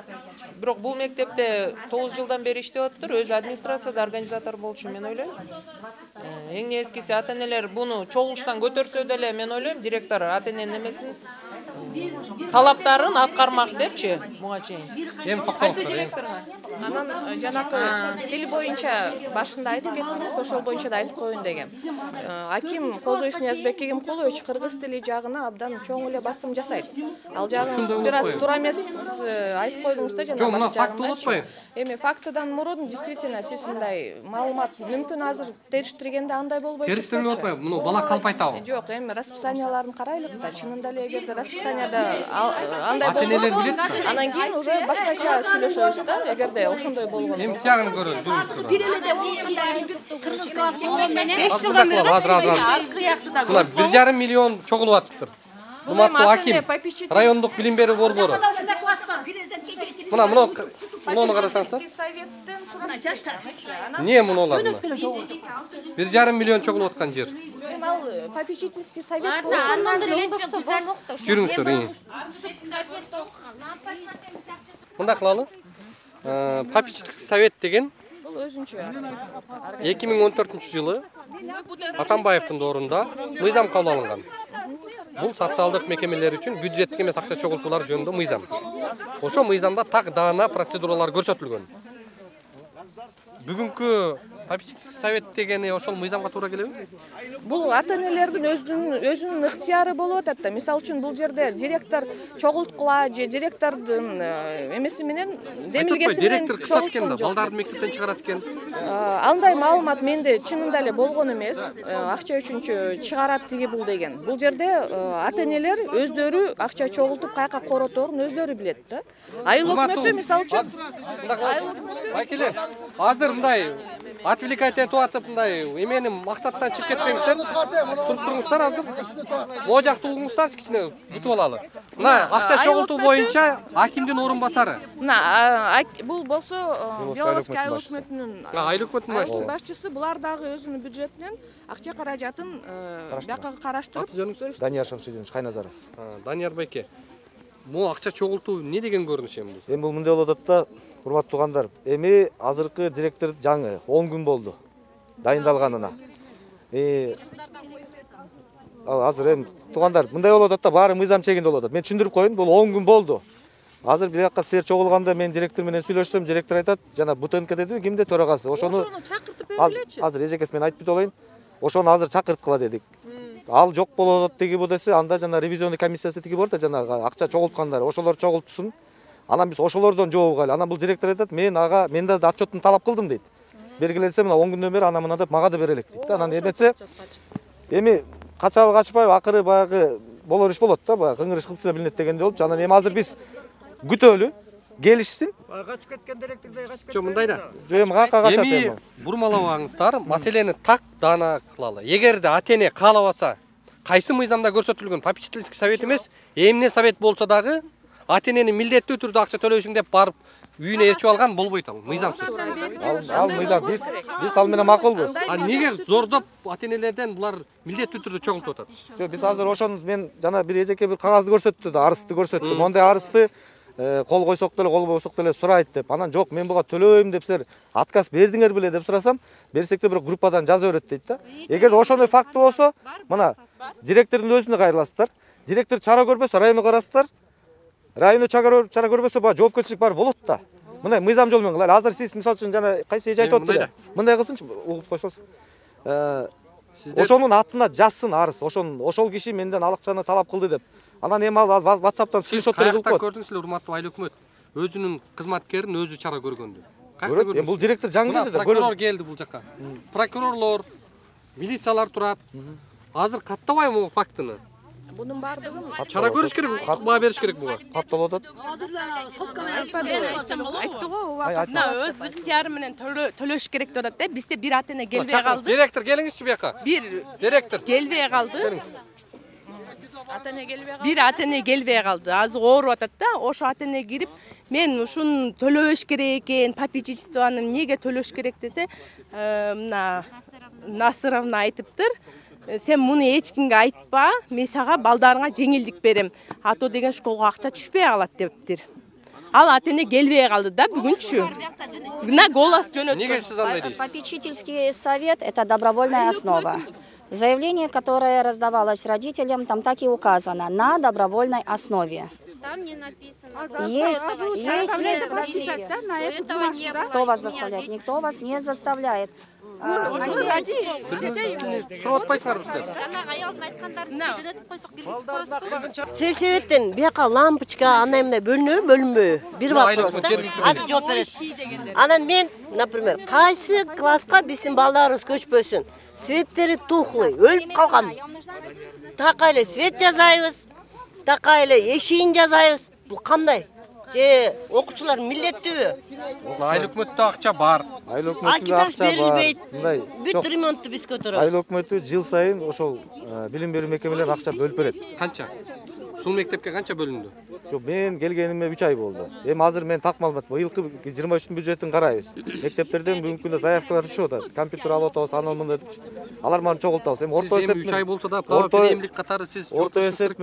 бирок бул мектепте 9 жылдан бери иштеп атыптыр, өзү администрацияда организатор болчу мен ойлойм. Эң нескиси ата-энелер буну чогулуштан көтөрсө деле мен ойлойм, директор ата-эненин эмесин талаптарын аткармак депчи, буга чейин. Кайсы директорга? Анан жанакы тил боюнча башында айтып кеттиңиз, ошол боюнча да айтып коеюн деген. Аким Козоев Ниязбек Эгемкулович кыргыз тили жагына абдан чоң эле басым жасайт. Ал жагын бир аз туура эмес айтып койдуңуз да жана баш жагын. Эми фактыдан мурун действительно сиз мындай маалымат мүмкүн азыр териштиргенде андай болбой турса. Териштирме атпайбы? Муну бала калп айтабы? Жок, эми расписанияларын карайлык да. Чынында эле эгерде расписанияда андай болбосо, анан кийин уже башкача сүйлөшөбүз да, эгерде ошондой болгон. Эми тиягын көрөбүз. Бир эле деп кыргыз класс болгон менен 5 жылдан бери аркы яктыда. 1,5 миллион чогулуп атыптыр. Урматтуу аким, райондук билим берүү борбору. Муну карасаңыздар. Эмне мунулар? 1,5 миллион чогулуп аткан жер. Ал попечительский совет жүрүңүздөр. Мындай кылалы. Попечительский совет деген бул өзүнчө 2014-жылы Атамбаевдин доорунда мыйзам кабыл алынган. Бул социалдык мекемелер үчүн бюджеттик эмес акча чогултуулар жөнүндө мыйзам. Ошо мыйзамда так даана процедуралар көрсөтүлгөн. Бүгүнкү попечительский совет дегени ошол мыйзамга туура келеби? Бул ата-энелердин өзүнүн ыктыяры болуп атат да. Мисалы үчүн бул жерде директор чогулткула же директордун эмеси менен демилгеси менен директор кысат экен да, балдарды мектептен чыгарат экен. Андай маалымат менде чынында эле болгон эмес. Акча үчүнчү чыгарат тиги бул деген. Бул жерде ата-энелер өздөрү акча чогултуп каяка короторун өздөрү билет да. Айыл өкмөтү мисалы үчүн байкелер, азыр мындай отвлекать этип атып мындай эмени максаттан чыгып кетпеңиздер. Туруп туруңуздар азыр. Могу жакты угуңуздарчы кичине бүтүп алалы. Мына акча чогултуу боюнча акимдин орун басары. Мына бул болсо Белорусский айыл өкмөтүнүн айыл өкмөтүнүн башчысы, булар дагы өзүнүн бюджетинен акча каражатын бияка караштырып. Данияр Шамсидинович Кайназаров. Данияр байке. Могу акча чогултуу эмне деген көрүнүш эми бул? Эми бул мындай болуп атат да, урматтуу туугандар. Эми азыркы директор жаңы 10 күн болду дайындалганына. азыр эми туугандар мындай болуп атат да, баары мыйзам чегинде болуп атат. Мен түшүндүрүп коеюн, бул 10 күн болду. Азыр бир жакка силер чогулганда мен директор менен сүйлөшсөм, директор айтат, жана БТНК дедиби, кимде төрагасы. Ошону чакыртып бергилечи. Азыр эжекеси мен айтып кетип алайын. Ошону азыр чакырткыла дедик. Ал жок болуп атат деги бу десе, анда жана ревизионный комиссиясы тиги бар да, жанагы акча чогулткандар, ошолор чогултсун. Анан биз ошолордон жооп алайлы. Анан бул директор айтат, мен да отчеттун талап кылдым дейт. Бергиле десе, мына 10 күндөн бери ана мына деп мага да бере элек дейт да. Анан эметсе, эми качабы качпайбы, акыры баягы болор иш болот да, баягы кыңыр иш кылчу билинет дегенде болуп. Анан эми азыр биз күтөлү, келишсин. Качып кеткен директордой качып кеткен. Жок, мындай да. Эми кака качат эми. Эми бурмалабаңыздар, маселени так даана кылалы. Эгерде ата-эне каалабаса, кайсы мыйзамда көрсөтүлгөн попечительский совет эмес, эмне совет болсо дагы ата-энени милдеттүү түрдө акча төлөйсүң деп барып үйүнө ээрчип алган болбойт, ал мыйзамсыз. Ал мыйзам биз ал менен макулбуз. Неге зордоп ата-энелерден булар милдеттүү түрдө чогултуп атат? Жок, биз азыр ошону мен жана бир эжеке бир кагазды көрсөттү да, арызды көрсөттү. Мондай арызды кол койсок деле, кол койсок деле сурайт деп. Анан жок, мен буга төлөбөйм деп силер отказ бердиңер беле деп сурасам, берсек да бир группадан жаза берет дейт да. Эгер ошондой факты болсо, мына директордун өзүнө кайрыласыздар. Директор чара көрбөсө районго карасыздар. Району чара көрбөсө баа жоопкерчилик бар болот да. Мындай мыйзам жол менен кылайлы. Азыр сиз мисалы үчүн жана кайсы эже айтып атты. Мындай кылсынчы, угуп койсоңуз. Ошонун атына жазсын арыз. Ошол киши менден алакчаны талап кылды деп. Анан эми ал WhatsApp'тан скриншот кылып коет. Каяктан көрдүңүз эле, урматтуу айыл өкмөт? Өзүнүн кызматкерин өзү чара көргөндү. Каяктан көрдүңүз? Бул директор жаңы келди да. Прокурор келди бул жакка. Прокурорлор, милициялар турат. Азыр каттабайбы бул фактыны? Bunun bardığın чара көрүш керек, баа бериш керек буга. Катталып атат. Мына өз ыктыяры менен төлөш керек деп атат да. Бизде бир ата-эне келбей калды. Директор келиңизчи буяка. Бир директор келбей калды. Бир ата-эне келбей калды. Азыр ооруп атат да. Ошо ата-эне кирип, мен ушуну төлөбөш керек экен, попечительствону эмнеге төлөш керек десе, мына Насыровна айтыптыр. Сен муну эч кимге айтпа, мен сага балдарыңа жеңилдик берем. Ато деген школго акча түшпөй калат дептир. Ал ата-эне келбей калды да бүгүнчү. Мына голос жөнөттү. Неге сиз андай дейсиз? Попечительский совет – это добровольная основа. Заявление, которое раздавалось родителям, там так и указано – на добровольной основе. Там не написано. Есть. Этого не было. Кто вас заставляет? Никто вас не заставляет. Сельсоветтен бияка лампочка андай мындай бөлүнөбү, бөлүнбөйбү? Бир вопрос да. Азыр жооп бересиз. Анан мен, например, кайсы класска биздин балдарыбыз көчпөсүн? Светтери тухлый, өлүп калган. Така эле свет жасайбыз, така эле эшигин жасайбыз. Бул кандай? Же окуучулар милдеттүүбү? Айыл өкмөттө акча бар. Айыл өкмөттө акча бар. Мындай бүт ремонтту биз көтөрөбүз. Айыл өкмөтү жыл сайын ошол билим берүү мекемелерine акча бөлүп берет. Канча? Ушул мектепке канча бөлүндү? Жок, мен келгениме 3 ай болду. Эми азыр мен так маалымат, быйылкы 23-түн бюджетин карайбыз. Мектептерден бүгүнкү күндө заявкалар түшүп атат. Компьютер алып атабыз, анан мындай депчи. Алар маны чогултабыз. Эми орто эсеп менен 3 ай болсо да, правоприемдик катары сиз орто эсеп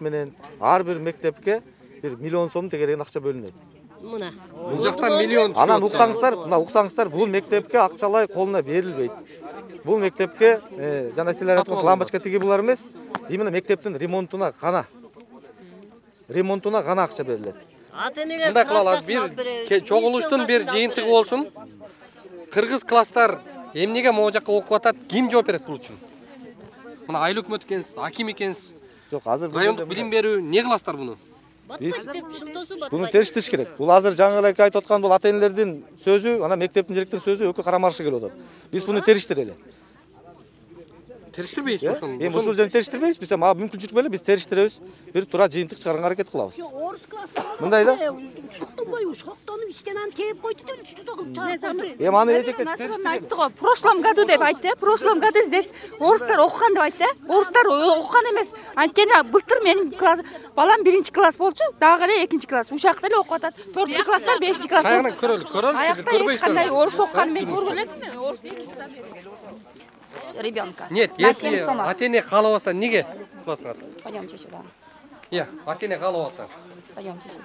менен ар бир мектепке 1 миллион сом тегереген акча бөлүнөт. Мына. Бул жакта миллион. Анан уксаңыздар, бул мектепке акчалай колуна берилбейт. Бул мектепке жана силер айткан лампочка тиги булар эмес, именно мектептин ремонтуна гана акча берилет. Мындай кылалы, бир чогулуштун бир жыйынтыгы болсун. Кыргыз класстар эмнеге могу жакка окуп атат, ким жооп берет бул үчүн? Мына айыл өкмөт экенсиз, аким экенсиз. Жок, азыр райондук билим берүү не кыласыздар буну? Биз буну териштириш керек. Бул азыр жаңы эле айтып аткан бул ата-энелердин сөзү, анан мектептин директорунун сөзү экөө карама-каршы келип атат. Биз буну териштирели. Териштирбейсизби ошону? Эми ушул жерде териштирбейбиз, биз ага мүмкүнчүлүк беле, биз териштиребиз. Бир туура жыйынтык чыгарганга аракет кылабыз. Мындай да. Шоктонбойбу, шоктонуп истенен тееп койду деп үчтү да чыгарып. Эми аны эжекке айтты го, прошлом году деп айтты. Прошлом году здесь орустар окуган деп айтты. Орустар окуган эмес. Анткени былтыр менин класс балам 1-класс болчу, дагы эле 2-класс. Ушакта эле окуп атат. 4-класстар 5-класс. Кайгынан көрөлү. Аякта эч кандай орус окуган мен көргөн элекмин. Орус ребенка. Нет, если ата-эне каалабаса, неге кыласыңар? Пойдемте сюда. Ата-эне каалабаса. Пойдемте сюда.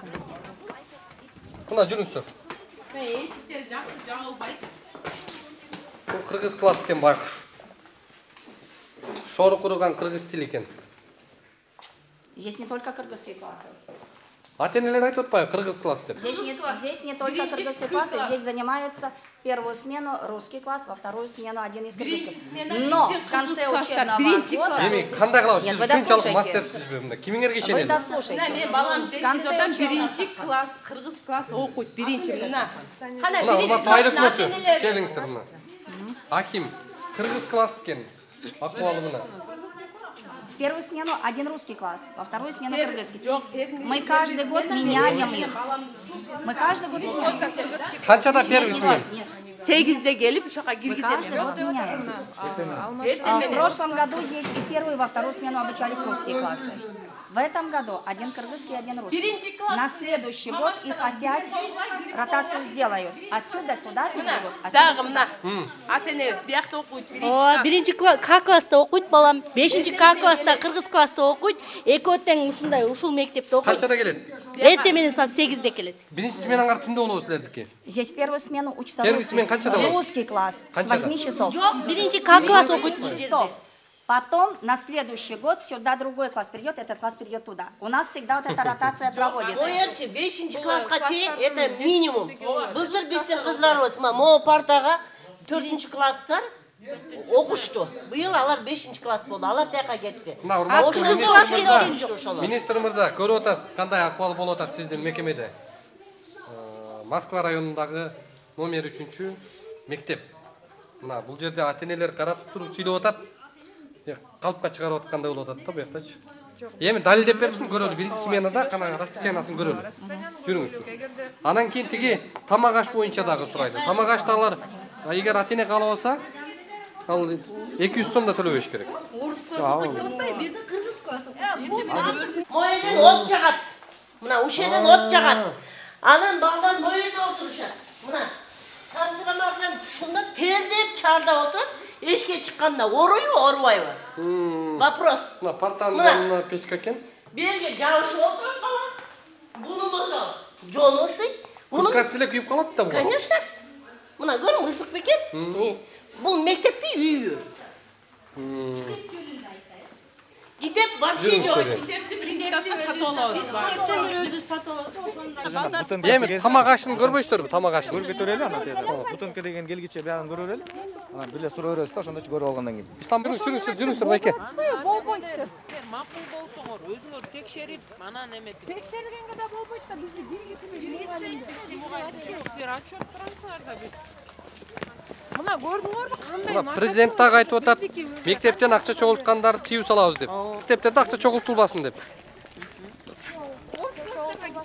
Мына жүрүңүздөр. Эшиктер жакшы жабылбайт. Бул кыргыз класс экен байкуш. шору курган кыргыз тили экен. Здесь не только кыргызские классы. Ата-энелер айтып атпайбы кыргыз класс деп? Здесь не только кыргызские классы, здесь занимаются первую смену русский класс, во вторую смену один из кыргызских. Но в конце учебного года... Эми кандай кылабыз? Сиз ушунчалык мастерсизби мында? Кимиңерге ишенет? Вы дослушайте. Мен балам Жеңгизовдон биринчи класс, кыргыз класс окуйт, биринчи мына. Кандай биринчи класс? Келиңиздер мына. Аким, кыргыз класс экен. Акыбалы мына. В первую смену один русский класс, во вторую смену кыргызский. Мы каждый год меняем их. Мы каждый год меняем. Канчада первый смен? 8-де келип ушака киргизем. В прошлом году здесь и в первую, и во вторую смену обучались русские классы. В этом году один кыргызский, один русский. На следующий год их опять ротацию сделают. Отсюда туда переведут, отсюда сюда. Ата-энебиз биякта окуйт, биринчи класс. Биринчи К класста окуйт балам, 5-чи К класста кыргыз класста окуйт, экөө тең ушундай ушул мектепте окуйт. Канчада келет? Эртең менен саат 8-де келет. Биринчи сменаң ар түндө болобу силердики? Здесь первую смену учится Первый смен канчада болот? русский класс с 8 часов. Биринчи К класс окуйт. Часов. Потом на следующий год сюда другой класс придет, этот класс придет туда. У нас всегда вот эта ротация проводится. Оерчи 5-чи класска чейин это минимум. Былтыр биздин кыздарыбыз могу партага 4-чү класстар окушту. Быйыл алар 5-чи класс болду. Алар тияка кетти. Министр мырза, көрүп атасыз кандай акыбал болуп атат сиздин мекемеде? Москва районундагы номер 3-чү мектеп. Мына бул жерде ата-энелер каратып туруп сүйлөп атат. Калпка чыгарып аткандай болуп атат да буяктачы. Эми далилдеп берсин көрөлү. Биринчи сменада кана расписаниясын көрөлү. Жүрүңүздөр. Анан кийин тиги тамак аш боюнча дагы сурайлы. Тамак ашты алар эгер ата-эне каалабаса, ал 200 сомдо төлөбөш керек. Моюнан от жагат. Мына ушеден от жагат. Анан балдар моюнда отурушат. Мына кандырамаган ушунда тердеп чардап отуруп, эшикке чыкканда оруйбу, орубайбы? Вопрос. Мына партанын жанына печка экен. Берге жабышып отуруп калат. Буну болсо жону ысый. Курткасы деле күйүп калат да бул. Конечно. Мына көрүң, ысык бекен. Бул мектеппи, үйбү? Китеп вообще жок. Китепти биринчи класска сатып алабыз. Китептен өзү сатып алат. Эми тамак ашын көрбөйсүздөрбү? Тамак ашын көргөтө берели ана жерде. Бутынка деген келгиче баарын көрө берели. Анан биле суроо беребиз да, ошондо көрүп алгандан кийин. Ислам жүрүңүздөр байке. Болбойт. Сиздер макул болсоңор, өзүңөр текшерип, анан эметип. Текшергенге да болбойт да, бизди Сиздер отчет сураңыздар да бир. Мына көрдүңөрбү кандай? Мына президент дагы айтып атат, мектептен акча чогулткандарды тийүү салабыз деп. Мектептерде акча чогултулбасын деп.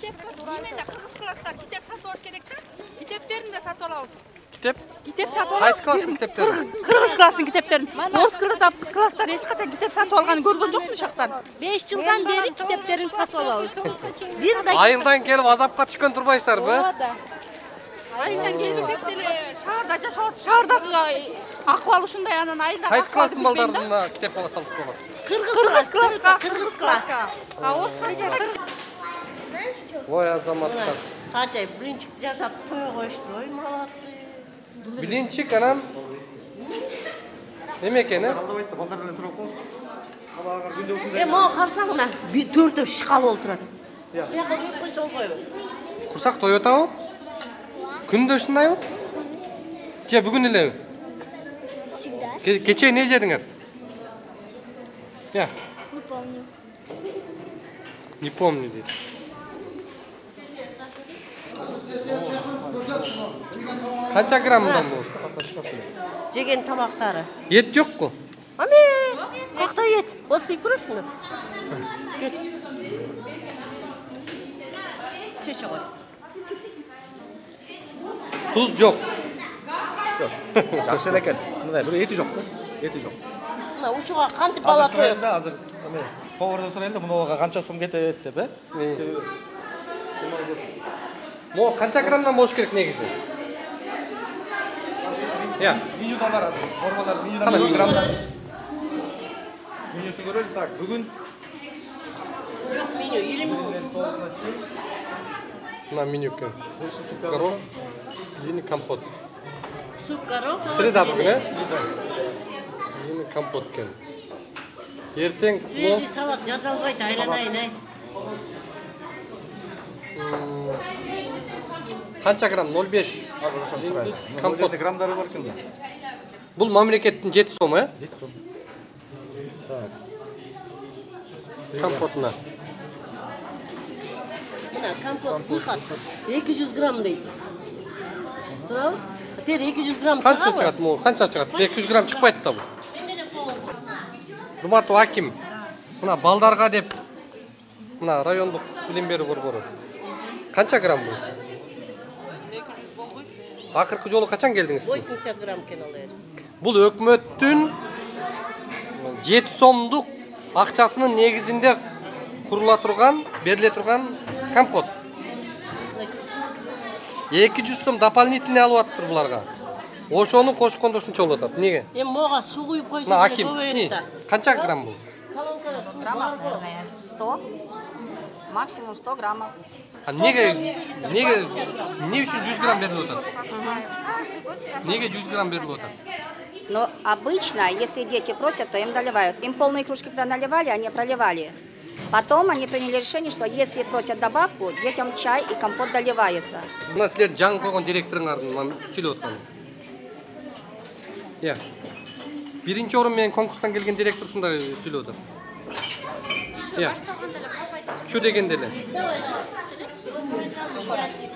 Кыргыз класстар китеп сатып алыш керек да. Китептерин да сатып алабыз. Китеп сатып алабыз. Кайсы класстын китептерин? Кыргыз класстын китептерин. Орус класстар эч качан китеп сатып алганын көргөн жокмун ушактан. 5 жылдан бери китептерин сатып алабыз. Айылдан келип азапка түшкөн турбайсыздарбы? Айылдан келбесек деле шаарда жашап атып, шаардагы акыбал ушундай, анан айылда. Кайсы класстын балдарына китеп ала салып коесуз? Кыргыз класска. Орус класска. Ой, азаматтар. Качай, биринчи жасап той коюшту. Ой, молодцы. Билинчик анан эме экен, Алдабайт да балдар менен сурап коесуз. Алар күндө ушундай. Могу карасаң мына 4 шкала отурат. Бияка коюп койсо болбойбу? Курсак Toyotабы? Күндө ушундайбы? Же бүгүн элеби? Всегда. Кечээ эмне жедиңер? Я. Не помню. Не помню дейт. Канча граммдан бул? Жеген тамактары. Ет жокку? Аме, какта ет? После көрөсүңбү? Кел. Чече кой. Туз жок. Жакшы эле экен. Мындай бирок эти жок да. Эти жок. Мына ушуга кантип бала тоюп? Азыр эме повардан сурайын да, мунуга канча сом кетет деп, Мо канча граммдан болуш керек негизи? Я. Менюда бар азыр. Формалар менюдан граммдан. Менюсүн көрөлү. Так, бүгүн жок меню 20 На меню экен. Суп коров, жени компот. Суп коров. Среда бүгүн, Жени компот экен. Эртең Свежий салат жасалбайт, айланайын ай. Канча грамм? 0,5. Компот граммдары бар экен. Бул мамлекеттин 7 сом, 7 сом. Компотуна. Мына компот кулхат 200 грамм дейт. Туурабы? Тер 200 грамм чыгабы? Канча чыгат могу? Канча чыгат? 200 грамм чыкпайт да бул. Урматтуу аким, мына балдарга деп мына райондук билим берүү борбору. Канча грамм бул? 200 болбойт. Акыркы жолу качан келдиңиз? 80 грамм экен ал. Бул өкмөттүн 7 сомдук акчасынын негизинде курула турган, бериле турган компот. 200 сом дополнительный алып атыптыр буларга. Ошону кошкондо ушунча болуп атат. Эмне? Эми мога суу куюп койсоң Мына аким, канча грамм бул? Граммов, наверное, 100, максимум 100 граммов. А эмне үчүн 100 грамм берилип атат? Неге 100 грамм берилип атат? Но обычно, если дети просят, то им доливают. Им полные кружки, когда наливали, они проливали. Потом они приняли решение, что если просят добавку, детям чай и компот доливается. Мына силердин жаңы койгон директоруңардын сүйлөп атканы. Биринчи орун менен конкурстан келген директор ушундай сүйлөп атат. Чу дегенде эле.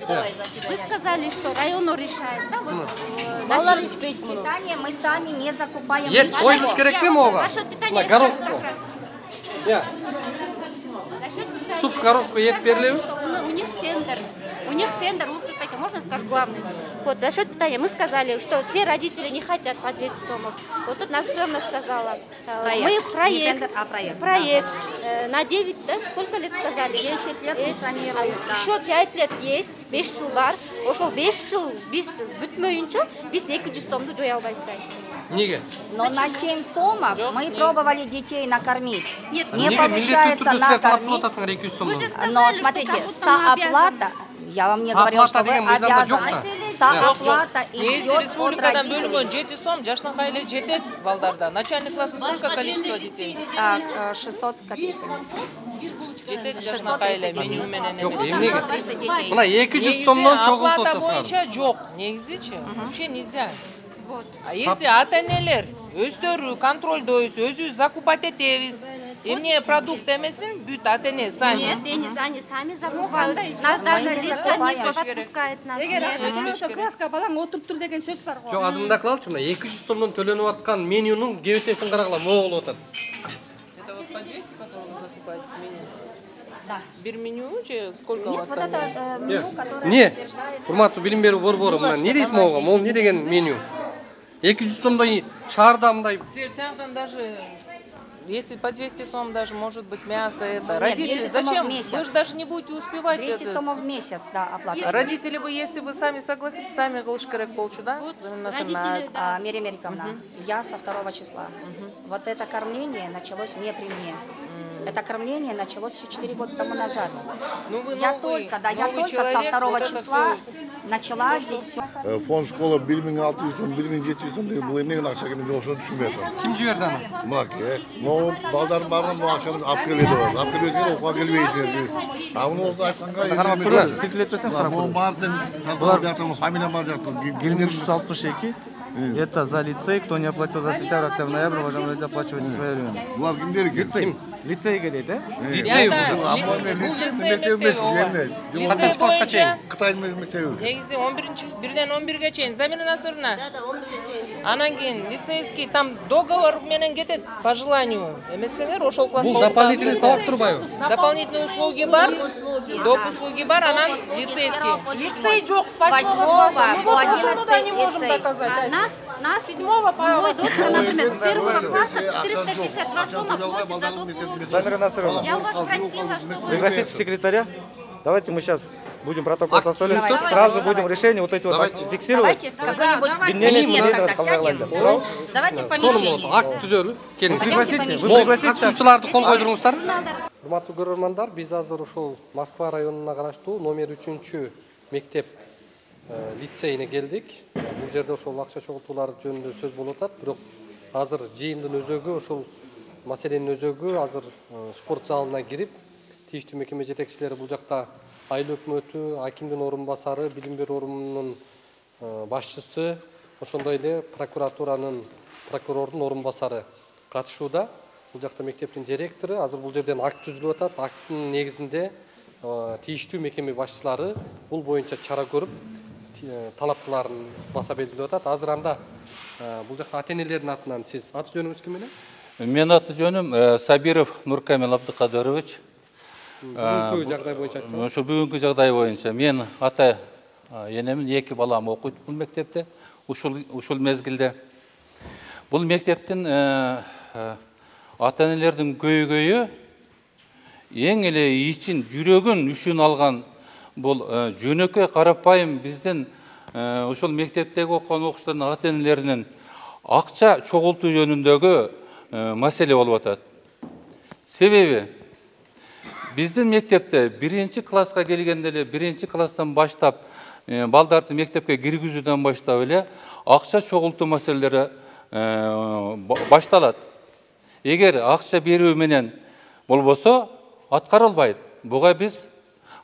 Вы сказали, что район решает, да? Вот Насчет питания мы сами не закупаем. Ет коюлуш керекпи могу? Насчет питания Горошку. Суп, коровку, ет берилеби? У них тендер. У них тендер, можно скажу главный. Вот, за счет питания мы сказали, что все родители не хотят по 200 сомов. Вот тут Настена сказала. Мы проект. На 9, да? Сколько лет сказали? 10 лет функционирует. Еще 5 лет есть, 5 жыл бар. Ошол 5 жыл биз бүтмөйүнчө биз 200 сомду жоя албайбыз. Неге? Но на 7 сомов мы пробовали детей накормить. Нет, не получается накормить. Но смотрите, сооплата, я вам не говорила, что вы обязаны. Сооплата идет от республикадан родителей. бөлүнгөн 7 сом жашынакай эле жетет балдарда. Начальный классы сколько количество детей? Так, 600 копейками. Жетет жашынакай эле меню менен. Мына 200 сомдон чогултуп атасыңар. Боюнча жок, негизичи вообще нельзя. А если ата-энелер өздөрү контролдойбуз, өзүбүз закупать этебиз, эмне продукт эмесин бүт ата-эне сами. Нет, они сами закупают. Нас даже листья не подпускает нас. Эгер ошо класска балаң отуруптур деген сөз бар го. Жок, азыр мындай кылалычы, мына 200 сомдон төлөнүп аткан менюнун кебетесин карагыла, могу болуп атат. Это вот по 200 потом закупается меню? Да. Бир меню же сколько у вас там? Нет, вот это меню, которое Не, урматтуу билим берүү борбору, мына эмне дейсиз могу? Могу эмне деген меню? 200 сомдой шаарда мындай. Силер тияктан даже если по 200 сом даже может быть мясо это. Родители, зачем? Вы же даже не будете успевать 200 это. сомов в месяц, да, оплата. Родители бы, если бы сами согласитесь, сами кылыш керек болчу, да? Родители, Мирия Мериковна, я со 2 числа. Вот это кормление началось не при мне. Это кормление началось еще 4 года тому назад. Ну, вы я новый, только человек, со 2 вот числа начала здесь все. Фонд школа 1600 сом, 1700 сом деген бул эмнеден акча келген ошону түшүнбөй атам. Ким жиберди аны? Маке. Но балдардын баарын бул акчаны алып келет деп. Алып келбесеңер окууга келбейт. А муну айтканга карап турыңыз, сиркилетпесеңиз карап турыңыз. Баардын булар биятамыз фамилия бар жактыр. 1362. Это за лицей, кто не оплатил за сентябрь, октябрь, ноябрь, уважаемые родители, оплачивайте свое время. Булар кимдер экен? Лицей. Лицейге дейт, э? Лицей боюнча Кытайдын мектеби. негизи 1-ден 11ге чейин Замира Насыровна. Анан кийин лицейский там договор менен кетет по желанию. Эметсеңер ошол класска. Бул дополнительный сабак турбайбы? Дополнительные услуги бар. Доп услуги бар, анан лицейский. Лицей жок с 8 класса. не можем доказать. Нас 7-го по... Мой дочка, например, с 1 класса 462 сома платит за доп уроки. Замира Насыровна, Я у вас спросила, что вы... пригласите секретаря. Давайте мы сейчас будем протокол составлять, сразу будем решение вот эти вот фиксировать. Давайте какой-нибудь тогда сядем. Давайте помещение. Акт түзөлүп, келиңиз. Пригласите, вы пригласите. Катышуучуларды кол койдуруңуздар. Урматтуу көрөрмандар, биз азыр ушул Москва районуна караштуу номер 3 мектеп лицейине келдик. Бул жерде ошол акча чогултуулар жөнүндө сөз болуп атат, бирок азыр жыйындын өзөгү ошол маселенин өзөгү азыр спорт залына кирип, тийиштүү мекеме жетекчилери бул жакта айыл өкмөтү, акимдин орун басары, билим берүү орунунун башчысы, ошондой эле прокурордун орун басары катышууда. Бул жакта мектептин директору, азыр бул жерден акт түзүлүп атат. Акттын негизинде тийиштүү мекеме башчылары бул боюнча чара көрүп, талаптарын баса белгилеп атат. Азыр анда бул жакта ата-энелердин атынан сиз аты жөнүңүз ким менен? Менин аты жөнүм Сабиров Нуркамил Абдыкадырович. Бүгүнкү жагдай боюнча айтсаңыз. Ошо бүгүнкү жагдай боюнча мен ата энемин, 2 балам окуйт бул мектепте. Ушул мезгилде бул мектептин ата-энелердин көйгөйү эң эле ичин, жүрөгүн үшүн алган бул жөнөкөй карапайым биздин ушул мектептеги окуган окуучулардын ата-энелеринин акча чогултуу жөнүндөгү маселе болуп атат. Себеби биздин мектепте 1-класска келгенде эле 1-класстан баштап балдарды мектепке киргизүүдөн баштап эле акча чогултуу маселелери башталат. Эгер акча берүү менен болбосо аткарылбайт. Буга биз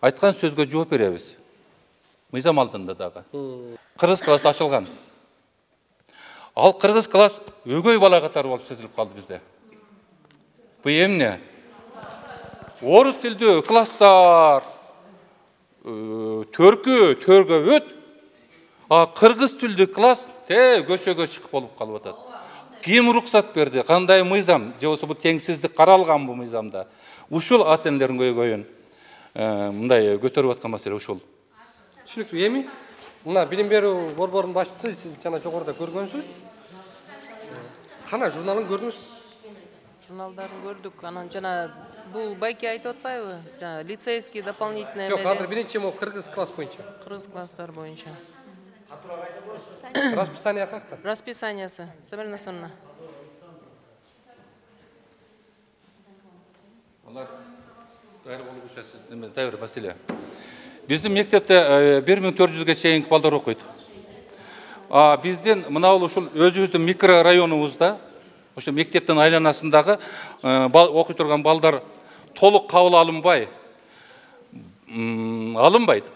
айткан сөзгө жооп беребиз. Мыйзам алдында дагы. Кыргыз класс ачылган. Ал кыргыз класс өгөй бала катары болуп сезилип калды бизде. Бу эмне? Орус тилдүү класстар төргө өт, а кыргыз тилдүү класс көчөгө чыгып болуп калып атат. Ким уруксат берди? Кандай мыйзам? Же болбосо бул теңсиздик каралган бу мыйзамда? Ушул ата-энелердин көйгөйүн мындай көтөрүп аткан маселе ушул. Түшүнүктүү. Эми мына билим берүү борборунун башчысы, сиз жана жогоруда көргөнсүз. Кана журналын көрдүңүз? Журналдарын көрдүк. Анан жана бул байке айтып атпайбы? Жана лицейский дополнительный. Жок, азыр биринчи могу кыргыз класс боюнча. Кыргыз класстар боюнча. Расписание какта? Расписаниясы. Собрана сонна. Алар дайыр маселе. Биздин мектепте 1400ге чейинки балдар окуйт. Биздин мына ушул өзүбүздүн микрорайонубузда, ошо мектептин айланасындагы окуй турган балдар толук кабыл алынбайт.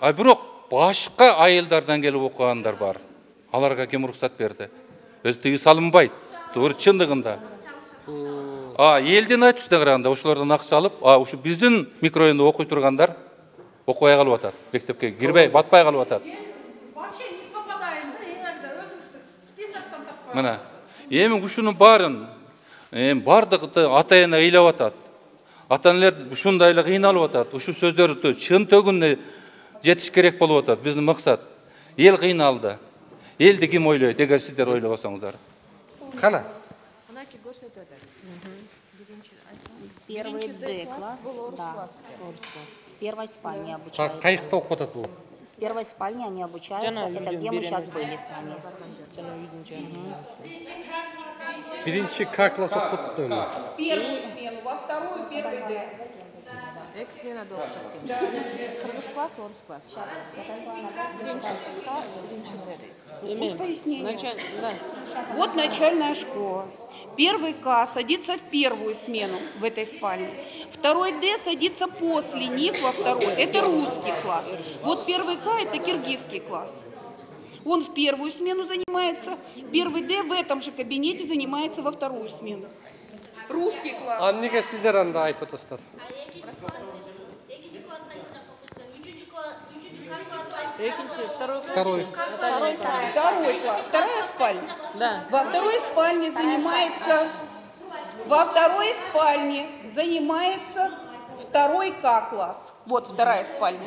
А бирок башка айылдардан келип окугандар бар. Аларга ким уруксат берди? Өзү тыюу салынбайт. Туура чындыгында. Элдин айтышына караганда ошолордон акча алып, ушу биздин микрорайондо окуй тургандар окубай калып атат. Мектепке кирбей, батпай калып атат. Вообще не попадаем, да, иногда өзүбүздүн списоктон таппайбыз. Мына, эми ушунун баарын бардыгы ата-эне ыйлап атат. Ата-энелер ушундай эле кыйналып атат. Ушул сөздөрдү чын төгүнүнө жетиш керек болуп атат. Биздин максат эл кыйналды. Элди ким ойлойт, эгер сиздер ойлобосоңуздар? Кана? Первый Д-класс, да, в первой спальне обучаются. Кайыкта окуп атат бул? В первой спальне они обучаются, это где мы сейчас были с вами. Биринчи К класс окуп атат. Первую смену, во вторую первый Д. Экс-смена да окшоп кетти. Кыргыз класс, орус класс. Биринчи К, биринчи Д. Пояснение. Да. Вот начальная школа. Первый К садится в первую смену в этой спальне. Второй Д садится после них во второй. Это русский класс. Вот первый К это киргизский класс. Он в первую смену занимается. Первый Д в этом же кабинете занимается во вторую смену. Русский класс. А неге сиздер анда айтып атасыздар? Второй класс. Вторая спальня. Да. Во второй спальне занимается второй К класс. Вот вторая спальня.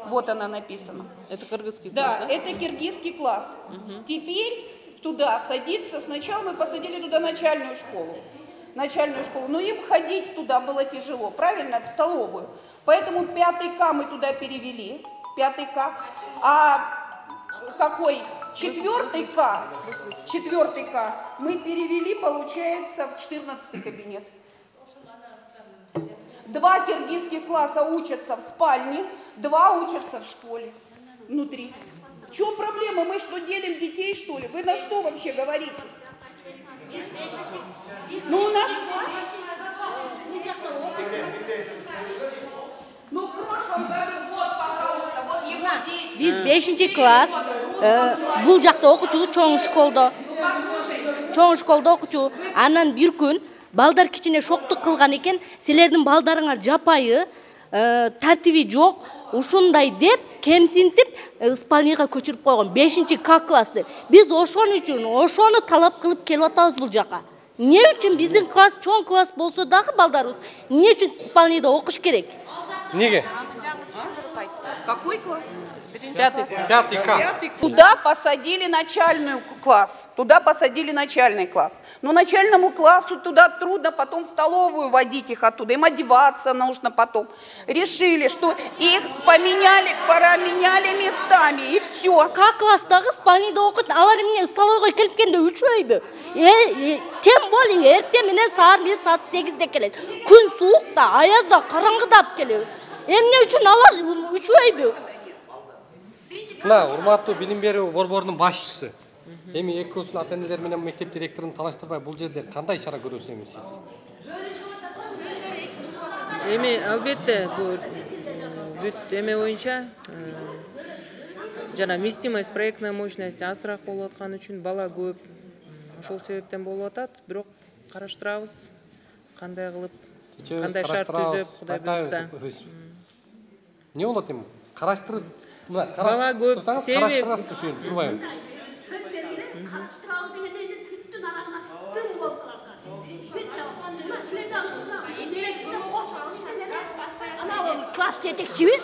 Вот она написана. Это кыргызский класс, да? Да, это киргизский класс. Теперь туда садится, сначала мы посадили туда начальную школу, но им ходить туда было тяжело, правильно, в столовую. Поэтому 5 К мы туда перевели, 5 К, а какой? 4 К мы перевели, получается, в 14 кабинет. 2 киргизских класса учатся в спальне, 2 учатся в школе внутри. В чем проблема? Мы что, делим детей, что ли? Вы на что вообще говорите? Биз 5-класс бул жакта окучу чоң школдо окучу. Анан бир күн балдар кичине шоктук кылган экен. Силердин балдарыңар жапайы, тартиби жок, ушундай деп кемсинтип спальняга көчүрүп койгон 5-К классты. Биз ошону талап кылып келип атабыз бул жака. Эмне үчүн биздин класс чоң класс болсо дагы балдарыбыз эмне үчүн спальняда окуш керек? Неге? Какой класс? 5К. Туда посадили начальный класс. Но начальному классу туда трудно потом в столовую водить их оттуда. Им одеваться нужно потом. Решили, что их променяли местами, и все. Как класстагы спальняда окут, алар эмне столовойго келип келгенде үчөйбү? Тем более эртең менен саат 8-де келет. Күн суукта, аязда, караңгыда алып келебиз. Эмне үчүн алар үчөйбү? Мына урматтуу билим берүү борборунун башчысы. Эми экөөсүн ата-энелер менен мектеп директорун талаштырбай бул жерде кандай чара көрөсүз эми сиз? Эми албетте бул бүт эме боюнча жана вместимость, проектная мощность азыраак болуп аткан үчүн бала көп. Ошол себептен болуп атат, бирок караштырабыз кандай кылып, кандай шарт түзүп, Кудай буйрса. Не болот эми? Караштырып бала көп себеп класс жетекчибиз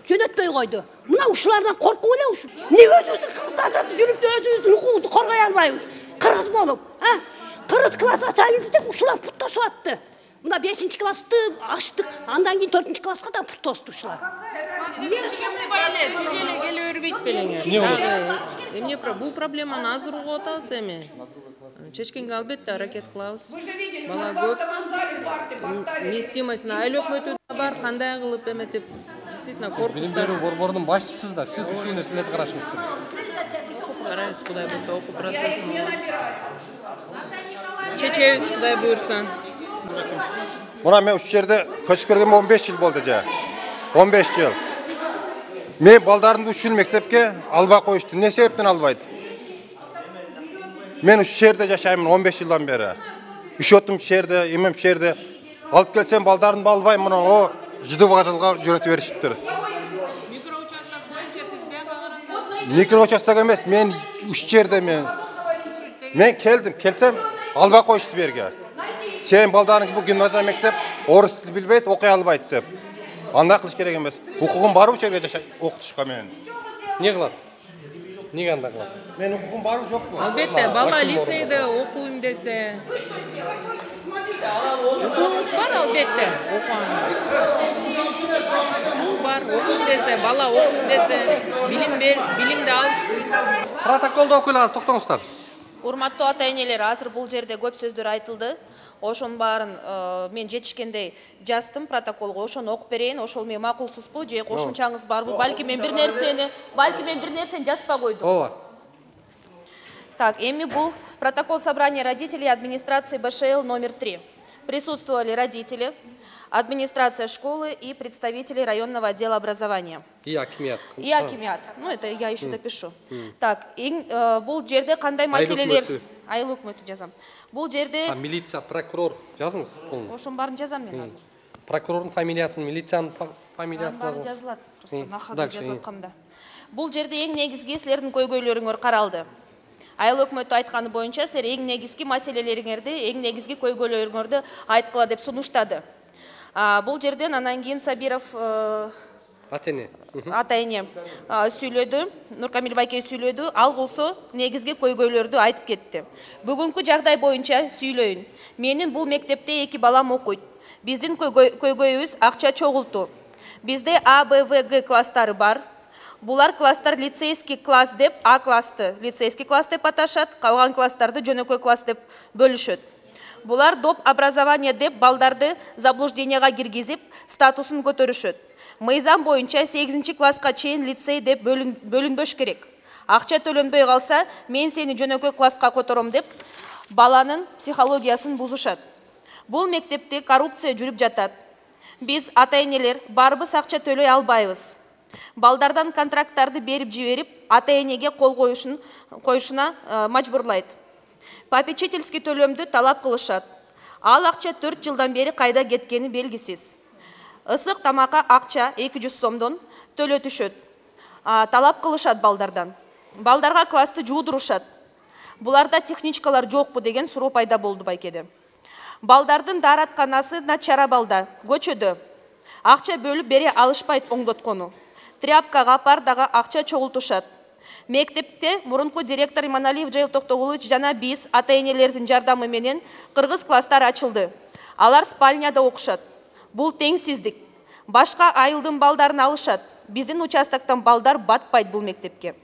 жөнөтпөй койду. Мына ушулардан коркуп эле ушу. Эмне өзүбүздүн кыргызстанда жүрүп өзүбүздүн укугубузду коргой албайбыз? Кыргыз болуп, кыргыз класс ачайын десек ушулар путташып атты. Мына 5-классты ачтык, андан кийин 4-класска да пут тосту ушулар. Тизеле келе бербейт белеңер. Эмне бул проблеманы азыр угуп атабыз эми. Чечкенге албетте аракет кылабыз. Бала көп. Вместимость айлык өтөдө бар, кандай кылып эметип, действительно коркустар. Билим берүү борборунун башчысыз да, сиз ушул нерселерди карашыңыз керек. Карайбыз, Кудай буйрса, окуу процессин. Чечебиз, Кудай буйрса. Мына мен ушул жерде көчүп келгениме 15 жыл болду жа. 15 жыл. Мен балдарымды ушул мектепке албай коюшту. Не себептен албайт? Мен ушул жерде жашаймын 15 жылдан бери. Учетум жерде, эмем жерде. Алып келсем балдарымды албайм, мына ЖД-вокзалга жөнөтүп беришиптир. Микроучасток боюнча сиз бияка карасаңыз? Микроучасток эмес, мен ушул жерде мен келсем албай коюшту берге. Сен балдарың бул гимназия мектеп орыс тил билбейт, окуй албайт деп. Андай кылыш керек эмес. Укугум барбы жерге жашай окутушка мен? Не кылат? Неге андай кылат? Мен укугум барбы жокпу? Албетте, бала лицейде окуйм десе. Укугуңуз бар албетте, бар, окуйм десе, бала окуйм десе, билимди алыш үчүн. Протоколдо окуйлаңыз, токтоңуздар. Урматтуу ата-энелер, азыр бул жерде көп сөздөр айтылды. Ошонун баарын мен жетишкендей жаздым протоколго, ошону окуп берейин. Ошол мен макулсузбу же кошумчаңыз барбы? Балки мен бир нерсени жазбай койдум. Ооба. Так, эми бул протокол собрания родителей администрации БШЛ номер 3. Присутствовали родители, администрация школы и представители районного отдела образования. И акимият. И акимият. Ну, это я еще допишу. Так, бул жерде кандай маселелер... Айыл өкмөтү жазам. Бул жерде... Милиция, прокурор жазыңыз. Ошонун баарын жазам мен азыр. Прокурордун фамилиясын, милициянын фамилиясын жазыңыз. Жазылат. Просто нахабы жазып аткамда. Бул жерде эң негизги силердин көйгөйлөрүңөр каралды. Айыл өкмөтү айтканы боюнча силер эң негизги маселелериңерди, эң негизги көйгөйлөрүңөрдү айткыла деп сунуштады. Бул жерден анан кийин Сабиров ата-эне сүйлөдү, Нуркамил байке сүйлөдү, ал болсо негизги көйгөйлөрдү айтып кетти. Бүгүнкү жагдай боюнча сүйлөйүн. Менин бул мектепте 2 балам окуйт. Биздин көйгөйүбүз акча чогултуу. Бизде А, Б, В, Г класстары бар. Булар класстар лицейский класс деп, А классты лицейский класс деп аташат, калган класстарды жөнөкөй класс деп бөлүшөт. Булар доп образование деп балдарды заблужденияга киргизип, статусун көтөрүшөт. Мыйзам боюнча 8 класска чейин лицей деп бөлүнбөш керек. Акча төлөнбөй калса, мен сени жөнөкөй класска котором деп баланын психологиясын бузушат. Бул мектепте коррупция жүрүп жатат. Биз ата-энелер барбыз акча төлөй албайбыз. Балдардан контракттарды берип жиберип, ата-энеге кол коюшуна мажбурлайт. Попечительский төлөмдү талап кылышат. Ал акча 4 жылдан бери кайда кеткени белгисиз. Ысык тамакка акча 200 сомдон төлөтүшөт. Талап кылышат балдардан. Балдарга классты жуудурушат. Буларда техничкалар жокпу деген суроо пайда болду байкеде. Балдардын дааратканасы начар абалда, көчөдө. Акча бөлүп бере алышпайт оңдоткону. Тряпкага, пардага акча чогултушат. Мектепте мурунку директор Иманалиев Жайыл Токтогулович жана биз ата-энелердин жардамы менен кыргыз класстар ачылды. Алар спальняда окушат. Бул теңсиздик. Башка айылдын балдарын алышат. Биздин участоктон балдар батпайт бул мектепке.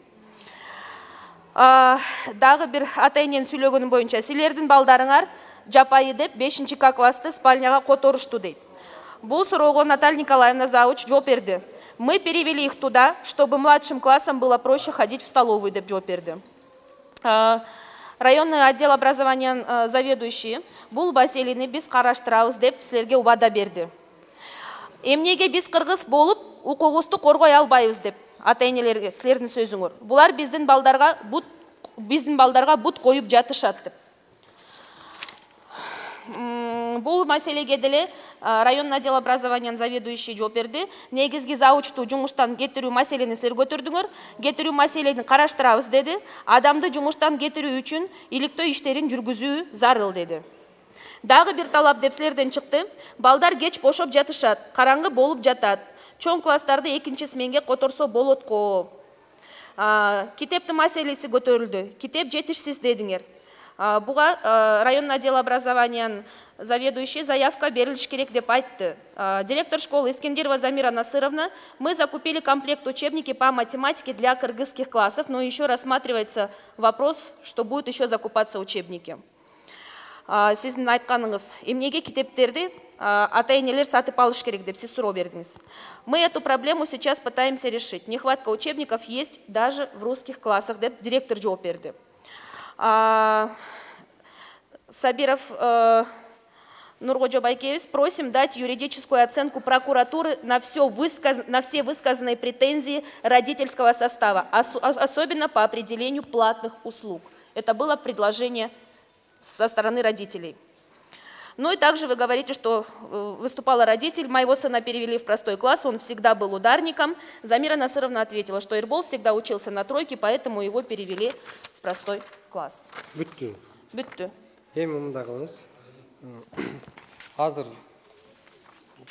Дагы бир ата-эненин сүйлөгөнү боюнча, силердин балдарыңар жапайы деп 5-К классты спальняга которушту дейт. Бул суроого Наталья Николаевна завуч жооп берди. Мы перевели их туда, чтобы младшим классам было проще ходить в столовую, деп жооп берди. Районный отдел образования заведующий бул маселени биз караштырабыз деп силерге убада берди. Эмнеге биз кыргыз болуп укугубузду коргой албайбыз деп ата-энелерге силердин сөзүңөр. Булар биздин балдарга бут коюп жатышат деп. Бул маселеге деле районный отдел образования заведующий жооп берди. Негизги заучту жумуштан кетирүү маселени силер көтөрдүңөр. Кетирүү маселени караштырабыз деди. Адамды жумуштан кетирүү үчүн иликтөө иштерин жүргүзүү зарыл деди. Дагы бир талап деп силерден чыкты. Балдар кеч бошоп жатышат, караңгы болуп жатат. Чоң класстарды 2 сменге которсо болот го. Китептин маселеси көтөрүлдү. Китеп жетишсиз дедиңер. Буга районный отдел образования заведующий заявка берилиш керек деп айтты. Директор школы Искендерова Замира Насыровна, мы закупили комплект учебники по математике для кыргызских классов, но еще рассматривается вопрос, что будет еще закупаться учебники. Сиздин айтканыңыз, эмнеге китептерди ата-энелер сатып алыш керек деп сиз суроо бердиңиз. Мы эту проблему сейчас пытаемся решить. Нехватка учебников есть даже в русских классах, деп директор жооп берди. Сабиров Нургоджо Байкевич, просим дать юридическую оценку прокуратуры на все высказанные претензии родительского состава, особенно по определению платных услуг. Это было предложение со стороны родителей. Ну и также вы говорите, что выступала родитель, моего сына перевели в простой класс, он всегда был ударником. Замира Насыровна ответила, что Ирбол всегда учился на тройке, поэтому его перевели в простой класс. Бүттү. Бүттү. Эми мындай кылыңыз. Азыр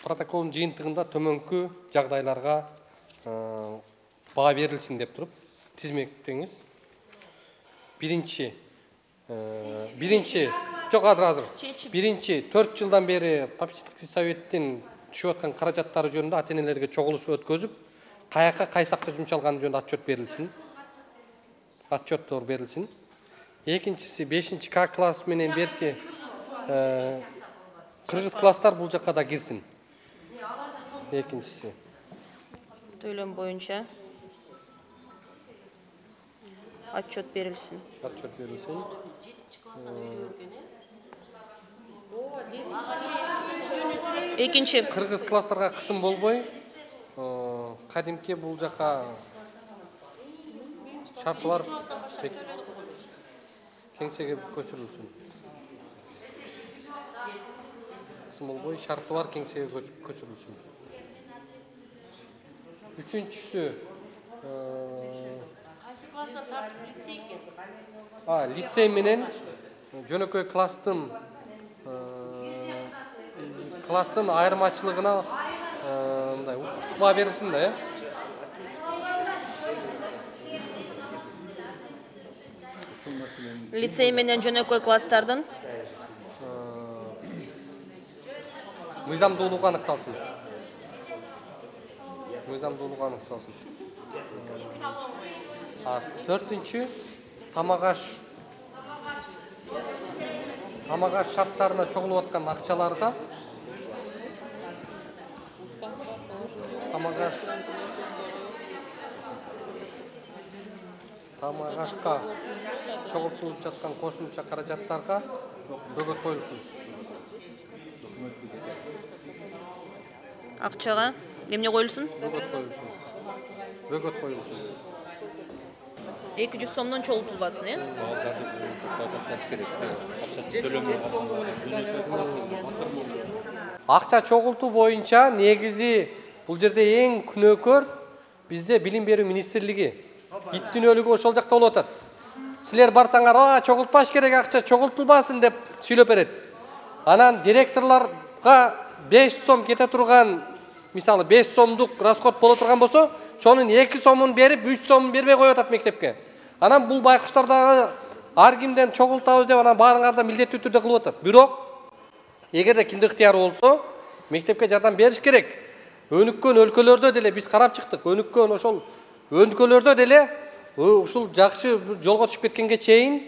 протоколдун жыйынтыгында төмөнкү жагдайларга баа берилсин деп туруп тизмектеңиз. Биринчи Биринчи 4 жылдан бери попечительский советтин түшүп аткан каражаттары жөнүндө ата-энелерге чогулуш өткөзүп, каяка кайсы акча жумшалганы жөнүндө отчет берилсин. Отчеттор берилсин. Экинчиси 5-К класс менен берки кыргыз класстар бул жакка да кирсин. Экинчиси. Төлөм боюнча отчет берилсин. Отчет берилсин. Экинчи. Кыргыз класстарга кысым болбой, кадимки бул жака шарты бар кеңсеге көчүрүлсүн. Кысым болбой, шарты бар кеңсеге көчүрүлсүн. Үчүнчүсү лицей менен жөнөкөй класстын айырмачылыгына мындай укуктуу берилсин да, Лицей менен жөнөкөй класстардын мыйзамдуулугу аныкталсын. Төртүнчү тамак аш шарттарына чогулуп аткан акчаларга тамак ашка чогултулуп жаткан кошумча каражаттарга бөгөт коюлсын. Акчага эмне коюлсун? Бөгөт коюлсын. 200 сомдон чогултулбасын, э? Акча чогултуу боюнча негизи бул жерде эң күнөөкөр бизде билим берүү министрлиги. Иттүнөлүгү ошол жакта болуп атат. Силер барсаңар, чогултпаш керек, акча чогултулбасын деп сүйлөп берет. Анан директорлорго 5 сом кете турган, мисалы 5 сомдук расход боло турган болсо, шонун 2 сомун берип, 3 сомун бербей коюп атат мектепке. Анан бул байкуштардагы ар кимден чогултабыз деп анан баарыңарды милдеттүү түрдө кылып атат. Бирок эгерде кимде ыктыяры болсо, мектепке жардам бериш керек. Өнүккөн өлкөлөрдө деле биз карап чыктык. Өнүккөн ошол өлкөлөрдө деле ушул жакшы жолго түшүп кеткенге чейин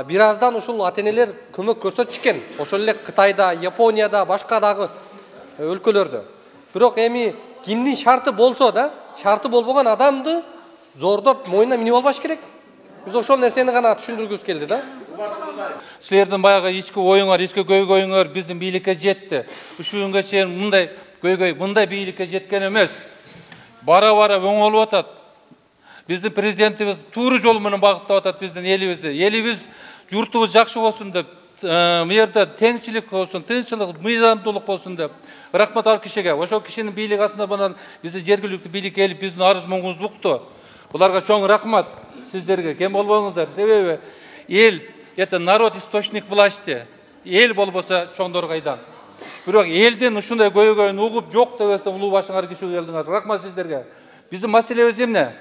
бир аздан ушул ата-энелер көмөк көрсөтүш экен. Ошол эле Кытайда, Японияда, башка дагы өлкөлөрдө. Бирок эми кимдин шарты болсо да, шарты болбогон адамды зордоп мойнуна минип албаш керек. Биз ошол нерсени гана түшүндүргүбүз келди да. Силердин баягы ички оюңар, ички көйгөйүңөр биздин бийликке жетти. Ушул күнгө чейин мындай көйгөй, мындай бийликке жеткен эмес. Бара-бара оңолуп атат. Биздин президентибиз туура жол менен багыттап атат биздин элибизди. Элибиз, журтубуз жакшы болсун деп, мыйерде теңчилик болсун, тынччылык, мыйзамдуулук болсун деп. Рахмат ал кишиге. Ошол кишинин бийлиги астында банан биздин жергиликтүү бийлик келип биздин арыз-муңубузду укту. Буларга чоң рахмат сиздерге. Кем болбоңуздар. Себеби эл, это народ источник власти. Эл болбосо чоңдор кайдан. Бирок элдин ушундай көйгөйүн угуп жок дебестен улуу башыңар кишиге келдиңер. Рахмат сиздерге. Биздин маселебиз эмне?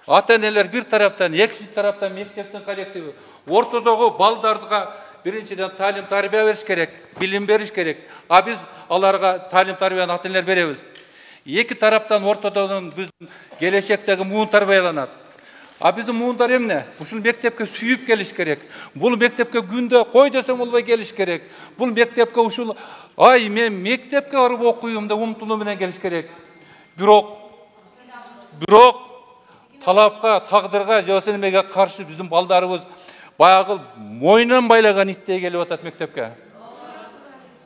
Ата-энелер бир тараптан, экинчи тараптан мектептин коллективи. Ортодогу балдарга биринчиден талим тарбия бериш керек, билим бериш керек. А биз аларга талим тарбияны ата-энелер беребиз. Эки тараптан ортодогун биздин келечектеги муун тарбияланат. А биздин муундар эмне? Ушул мектепке сүйүп келиш керек. Бул мектепке күндө кой десең болбой келиш керек. Бул мектепке ушул мен мектепке барып окуйм деп умтулуу менен келиш керек. Бирок талапка, тагдырга, же немеге каршы биздин балдарыбыз баягы мойнун байлаган иттей келип атат мектепке.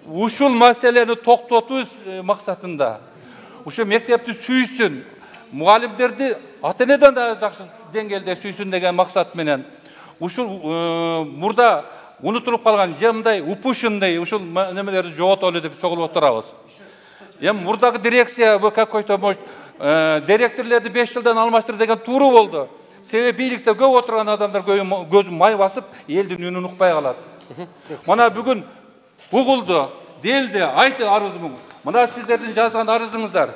Ушул маселени токтотуу максатында ушул мектепти сүйсүн, мугалимдерди ата-энеден да жакшы деңгээлде сүйсүн деген максат менен ушул мурда унутулуп калган жемдай, упущенный ушул немелерди жоготолу деп чогулуп отурабыз. Эми мурдагы дирекция какой-то может директорлерди 5 жылдан алмаштыр деген тууру болду. Себеби бийликте көп отурган адамдар көзүн май басып, элдин үнүн укпай калат. Мына бүгүн угулду, делди, айтты арызым. Мына сиздердин жазган арызыңыздар.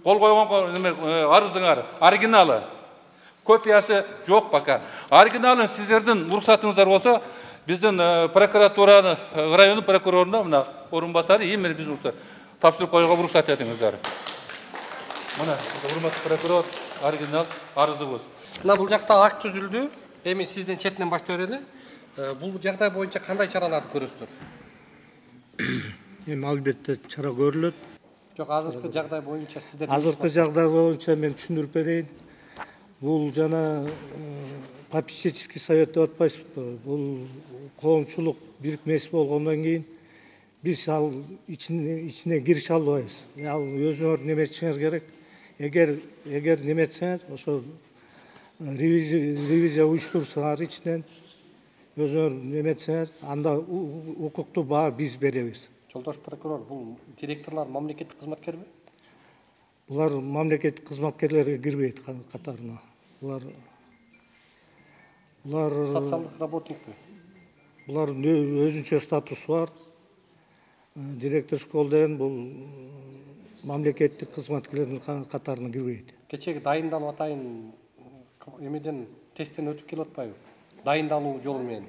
Кол койгон арызыңар, оригиналы. Копиясы жок пока. Оригиналын сиздердин уруксатыңыздар болсо, биздин прокуратураны, райондун прокуроруна мына орун басары эмне биз тапшырып коюуга уруксат этиңиздер. Мына урматтуу прокурор, оригинал арызыбыз. Мына бул жакта акт түзүлдү. Эми сизден четинен баштап берели. Бул жагдай боюнча кандай чараларды көрөсүздөр? Эми албетте чара көрүлөт. Жок, азыркы жагдай боюнча сиздер Азыркы жагдай боюнча мен түшүндүрүп берейин. Бул жана попечительский совет деп атпайсызбы? Бул коомчулук бирикмеси болгондон кийин биз ал ичине кирише албайбыз. Ал өзүңөр неметишиңер керек. Эгер неметсеңер, ошо ревизия уюштурсаңар ичинен, өзүңөр неметсеңер, анда укуктуу баа биз беребиз. Жолдош прокурор, бул директорлор мамлекеттик кызматкерби? Булар мамлекеттик кызматкерлерге кирбейт катарына. Булар социалдык работникпи? Булардын өзүнчө статусу бар. Директор школ деген бул мамлекеттик кызматкерлердин катарына кирбейт. Кечеги дайындалып атайын эмеден тесттен өтүп келип атпайбы? Дайындалуу жолу менен.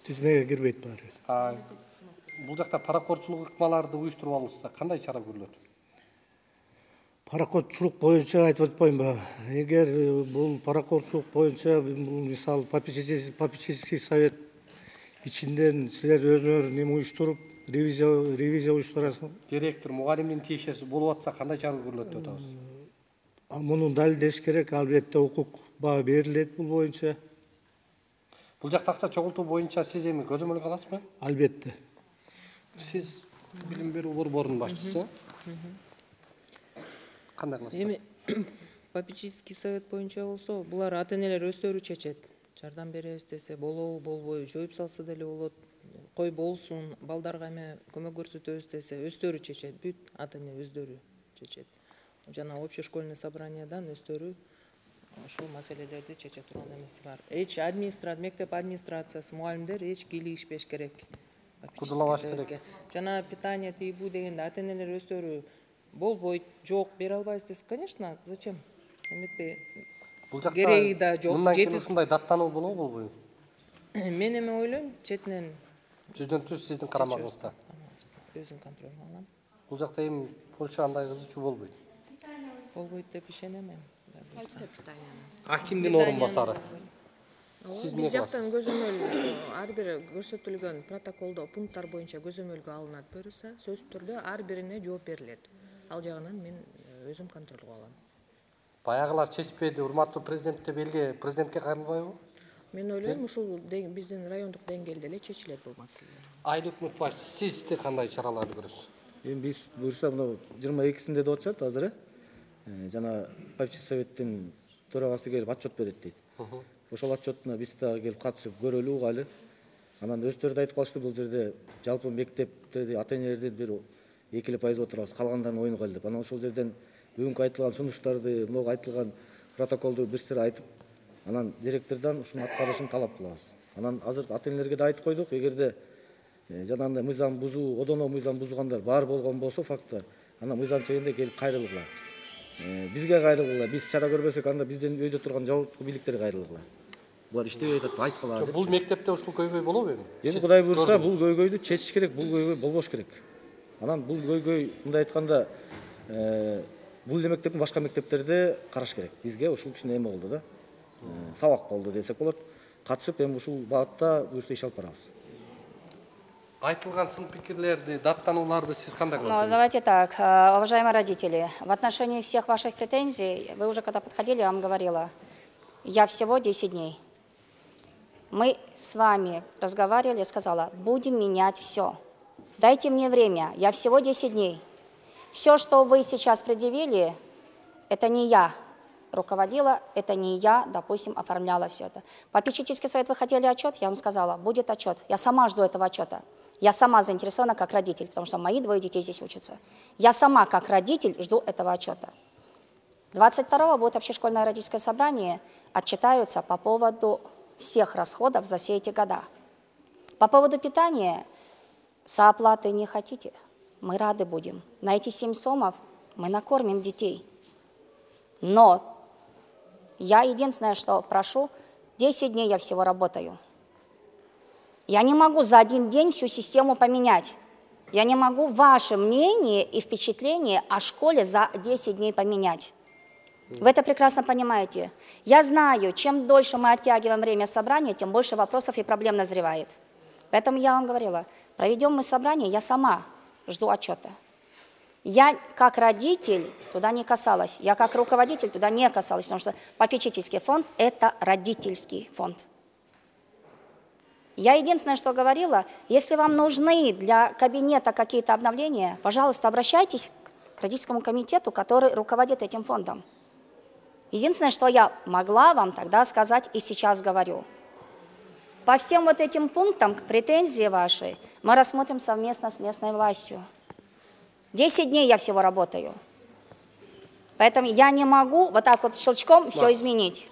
Тизмеге кирбейт баары. Бул жакта паракорчулук ыкмаларды уюштуруп алынса, кандай чара көрүлөт? Паракорчулук боюнча айтып атпаймынбы? Эгер бул паракорчулук боюнча мисалы попечительский совет ичинден силер өзүңөр неме уюштуруп, ревизия уюштурасың. Директор, мугалимдин тиешеси болуп атса, кандай чара көрүлөт деп атабыз? Муну далилдеш керек, албетте укук баа берилет бул боюнча. Бул жакта акча чогултуу боюнча сиз эми көзөмөлгө аласызбы? Албетте. Сиз билим берүү борборунун башчысы. Кандай кыласыз? Эми попечительский совет боюнча болсо, булар ата-энелер өздөрү чечет. Жардам беребиз десе болобу, болбойбу, жоюп салса деле болот. Кой болсун, балдарга эме көмөк көрсөтөбүз десе, өздөрү чечет. Бүт ата-эне өздөрү чечет. Жана общешкольный собраниядан өздөрү ошол маселелерди чече турган эмеси бар. Эч мектеп администрациясы, мугалимдер эч кийлигишпеш керек. Кудулабаш керек. Жана питание тийбүү дегенде ата-энелер өздөрү болбойт, жок, бере албайбыз десе, конечно, зачем? Эметпей. Бул жакта кереги да жок. Мындан кийин ушундай даттануу болобу, болбойбу? Мен эме ойлойм, четинен жүздөн-жүз сиздин карамагыңызда. Өзүм контролго алам. Бул жакта эми Польша андай кызычуу болбойт. Болбойт деп ишенем мен. Акимдин орун басары. Сиз Биз жактан көзөмөл ар бир көрсөтүлгөн протоколдо пункттар боюнча көзөмөлгө алынат буюрса, сөзсүз түрдө ар бирине жооп берилет. Ал жагынан мен өзүм контролго алам. Баягылар чечпеди, урматтуу президент деп элге президентке кайрылбайбы? Мен ойлойм, ушул биздин райондук деңгээлде эле чечилет бул маселелер. Айыл өкмөт башчысы, сизди кандай чараларды көрөсүз? Эми биз буюрса мына 22-синде деп атышат азыр. Жана попечительский советтин төрагасы келип отчет берет дейт. Ошол отчетуна биз дагы келип катышып көрөлү, угайлы. Анан өздөрү да айтып калышты, бул жерде жалпы мектептерди, ата-энелердин бир 2% отурабыз, калгандарын оюн кал деп. Анан ошол жерден бүгүнкү айтылган сунуштарды, могу айтылган протоколду бир сыйра айтып, анан директордон ушуну аткарышын талап кылабыз. Анан азыр ата-энелерге да айтып койдук, эгерде жанагындай мыйзам бузуу, одоно мыйзам бузгандар бар болгон болсо факттар, анан мыйзам чегинде келип кайрылгыла. Бизге кайрылгыла, биз чара көрбөсөк, анда биздин өйдө турган жауаптуу бийликтерге кайрылгыла. Булар иштебей атат, айткыла деп. Бул мектепте ушул көйгөй болобу эми? Эми Кудай буйрса, бул көйгөйдү чечиш керек, бул көйгөй болбош керек. Анан бул көйгөй мындай айтканда, бул эле мектептин башка мектептерде караш керек. Бизге ушул кичине эме болду да. Сабак болду десек болот. Катышып эми ушул багытта буйрса иш алып барабыз. Айтылган сын пикирлерди, даттанууларды сиз кандай кыласыз? Давайте так, уважаемые родители, в отношении всех ваших претензий, вы уже когда подходили, я вам говорила, я всего 10 дней. Мы с вами разговаривали, сказала, будем менять все. Дайте мне время, я всего 10 дней. Все, что вы сейчас предъявили, это не я руководила, это не я, допустим, оформляла все это. Попечительский совет, вы хотели отчет, я вам сказала, будет отчет. Я сама жду этого отчета. Я сама заинтересована как родитель, потому что мои 2 детей здесь учатся. Я сама как родитель жду этого отчета. 22-го будет общешкольное родительское собрание, отчитаются по поводу всех расходов за все эти года. По поводу питания, сооплаты не хотите, мы рады будем. На эти 7 сомов мы накормим детей. Но я единственное, что прошу, 10 дней я всего работаю. Я не могу за 1 день всю систему поменять. Я не могу ваше мнение и впечатление о школе за 10 дней поменять. Вы это прекрасно понимаете. Я знаю, чем дольше мы оттягиваем время собрания, тем больше вопросов и проблем назревает. Поэтому я вам говорила, проведем мы собрание, я сама жду отчета. Я как родитель туда не касалась, я как руководитель туда не касалась, потому что попечительский фонд – это родительский фонд. Я единственное, что говорила, если вам нужны для кабинета какие-то обновления, пожалуйста, обращайтесь к родительскому комитету, который руководит этим фондом. Единственное, что я могла вам тогда сказать и сейчас говорю. По всем вот этим пунктам, претензии ваши, мы рассмотрим совместно с местной властью. 10 дней я всего работаю. Поэтому я не могу вот так вот щелчком все изменить.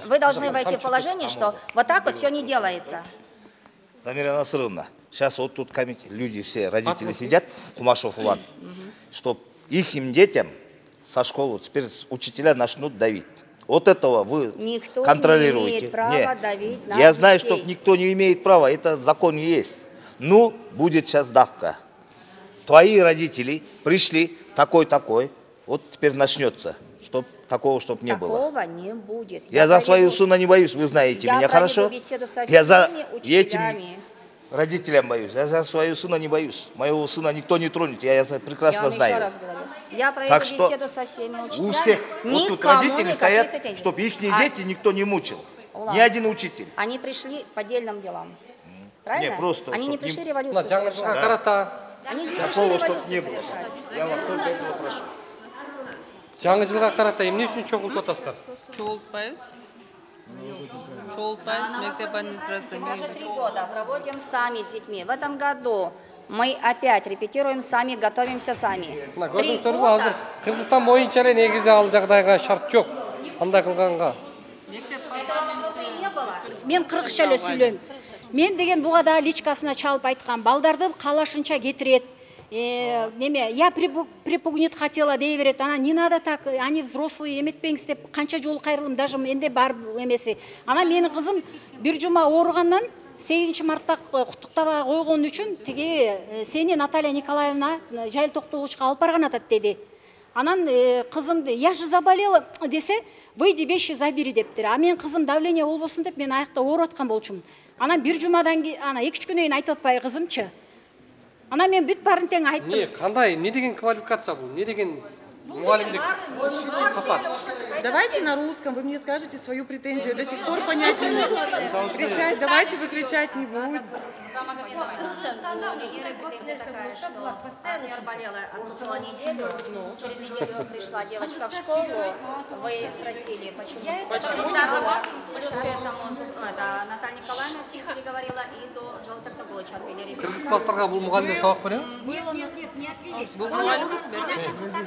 Вы должны войти в положение, что вот так вот все не делается. Замира Насыровна, сейчас вот тут люди все, родители сидят, Кумашев Улан, что их детям со школы теперь учителя начнут давить. Вот этого вы никто контролируете. Не имеет права давить на Я знаю, детей. что никто не имеет права, это закон есть. Ну, будет сейчас давка. Твои родители пришли такой-такой, вот теперь начнется, такого, чтобы не было. Такого не будет. Я за своего сына не боюсь, вы знаете меня хорошо. Беседу со Я за всеми учителями. родителям боюсь. Я за своего сына не боюсь. Моего сына никто не тронет, я это прекрасно знаю. Я вам еще раз говорю. Я Так проведу что беседу со всеми учителями. у всех вот тут родители стоят, чтобы их дети никто не мучил. Ни один учитель. Они пришли по отдельным делам. Правильно? Не, просто, они не чтоб пришли не- революцию жаңы совершать. жылга карата Они не пришли Такого, чтоб революцию не было. совершать. Я вас только этого прошу. жаңы жылга карата эмне үчүн чогултуп атасыздар? Чогултпайбыз. Чогултпайбыз. Мектеп администрация негизи 3 года проводим сами с детьми. В этом году мы опять репетируем сами, готовимся сами. Мына 3 көрдүңүздөрбү, азыр года. Кыргызстан боюнча эле негизи ал жагдайга шарт жок. Андай кылганга. Мен кыргызча эле сүйлөйм. Мен деген буга да личкасына чалып айткан, балдарды калашынча кетирет. Неме, я припугнет хотела дей берет. Ана не надо так, они взрослые, эметпеңиз деп канча жолу кайрылдым, даже энде бар эмеси. Ана менин кызым бир жума ооругандан 8 мартта куттуктабай койгон үчүн тиги сени Наталья Николаевна жайыл токтолучка алып барган атат деди. Анан кызымды я же заболела десе, выйди вещи забери дептир. А менин кызым давление болбосун деп мен аякта ооруп аткан болчумун. Анан бир жумадан кийин, ана 2-3 күнөн кийин айтып атпайбы кызымчы. Анан мен бүт баарын тең айттым. Не, кандай, не деген квалификация бул? Не деген мугалимдик сапат? Давайте на русском, вы мне скажете свою претензию. До сих пор понять не могу. Кричать, давайте же кричать не будет. Например, болела, отсутствовала неделю, через неделю пришла девочка в школу, вы спросили, почему не было. Плюс к этому Наталья Николаевна с них переговорила, и до Жол Токтогулыча отвели ребенка. Кыргыз класстарга бул мугалимдер сабак береби? Нет, не отвели. Бул мугалим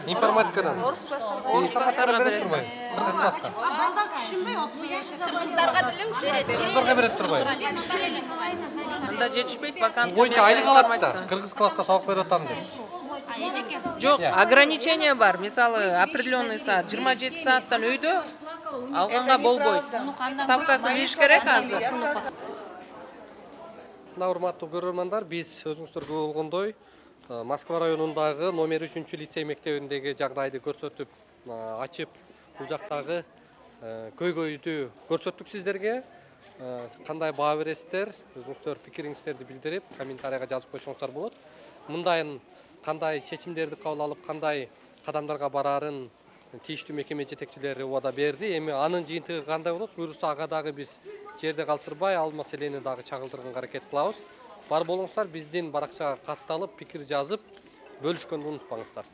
Информатикадан. Орус класстарга берет. Кыргыз класста. Балдар түшүнбөй отуруyor. Кыргыздарга деле Кыргыздарга берет турбайбы? Анда жетишпейт вакант. Боюнча айлык алат да. Кыргыз класска сабак берип атам деп. Жок, ограничение бар. Мисалы, определенный саат, 27 сааттан өйдө алганга болбойт. Ставкасын бериш керек азыр. Мына урматтуу көрөрмандар, биз өзүңүздөр көрүп болгондой Москва районундагы номер 3-лицей мектебиндеги жагдайды көрсөтүп, ачып, бул жактагы көйгөйдү көрсөттүк сиздерге. Кандай баа бересиздер, өзүңүздөр пикириңиздерди билдирип, комментарийга жазып койсоңуздар болот. Мындайын кандай чечимдерди кабыл алып, кандай кадамдарга барарын тийиштүү мекеме жетекчилери убада берди. Эми анын жыйынтыгы кандай болот? Буюрса ага дагы биз жерде калтырбай, ал маселени дагы чагылдырганга аракет кылабыз. Бар болуңуздар, биздин баракчага катталып, пикир жазып, бөлүшкөндү унутпаңыздар.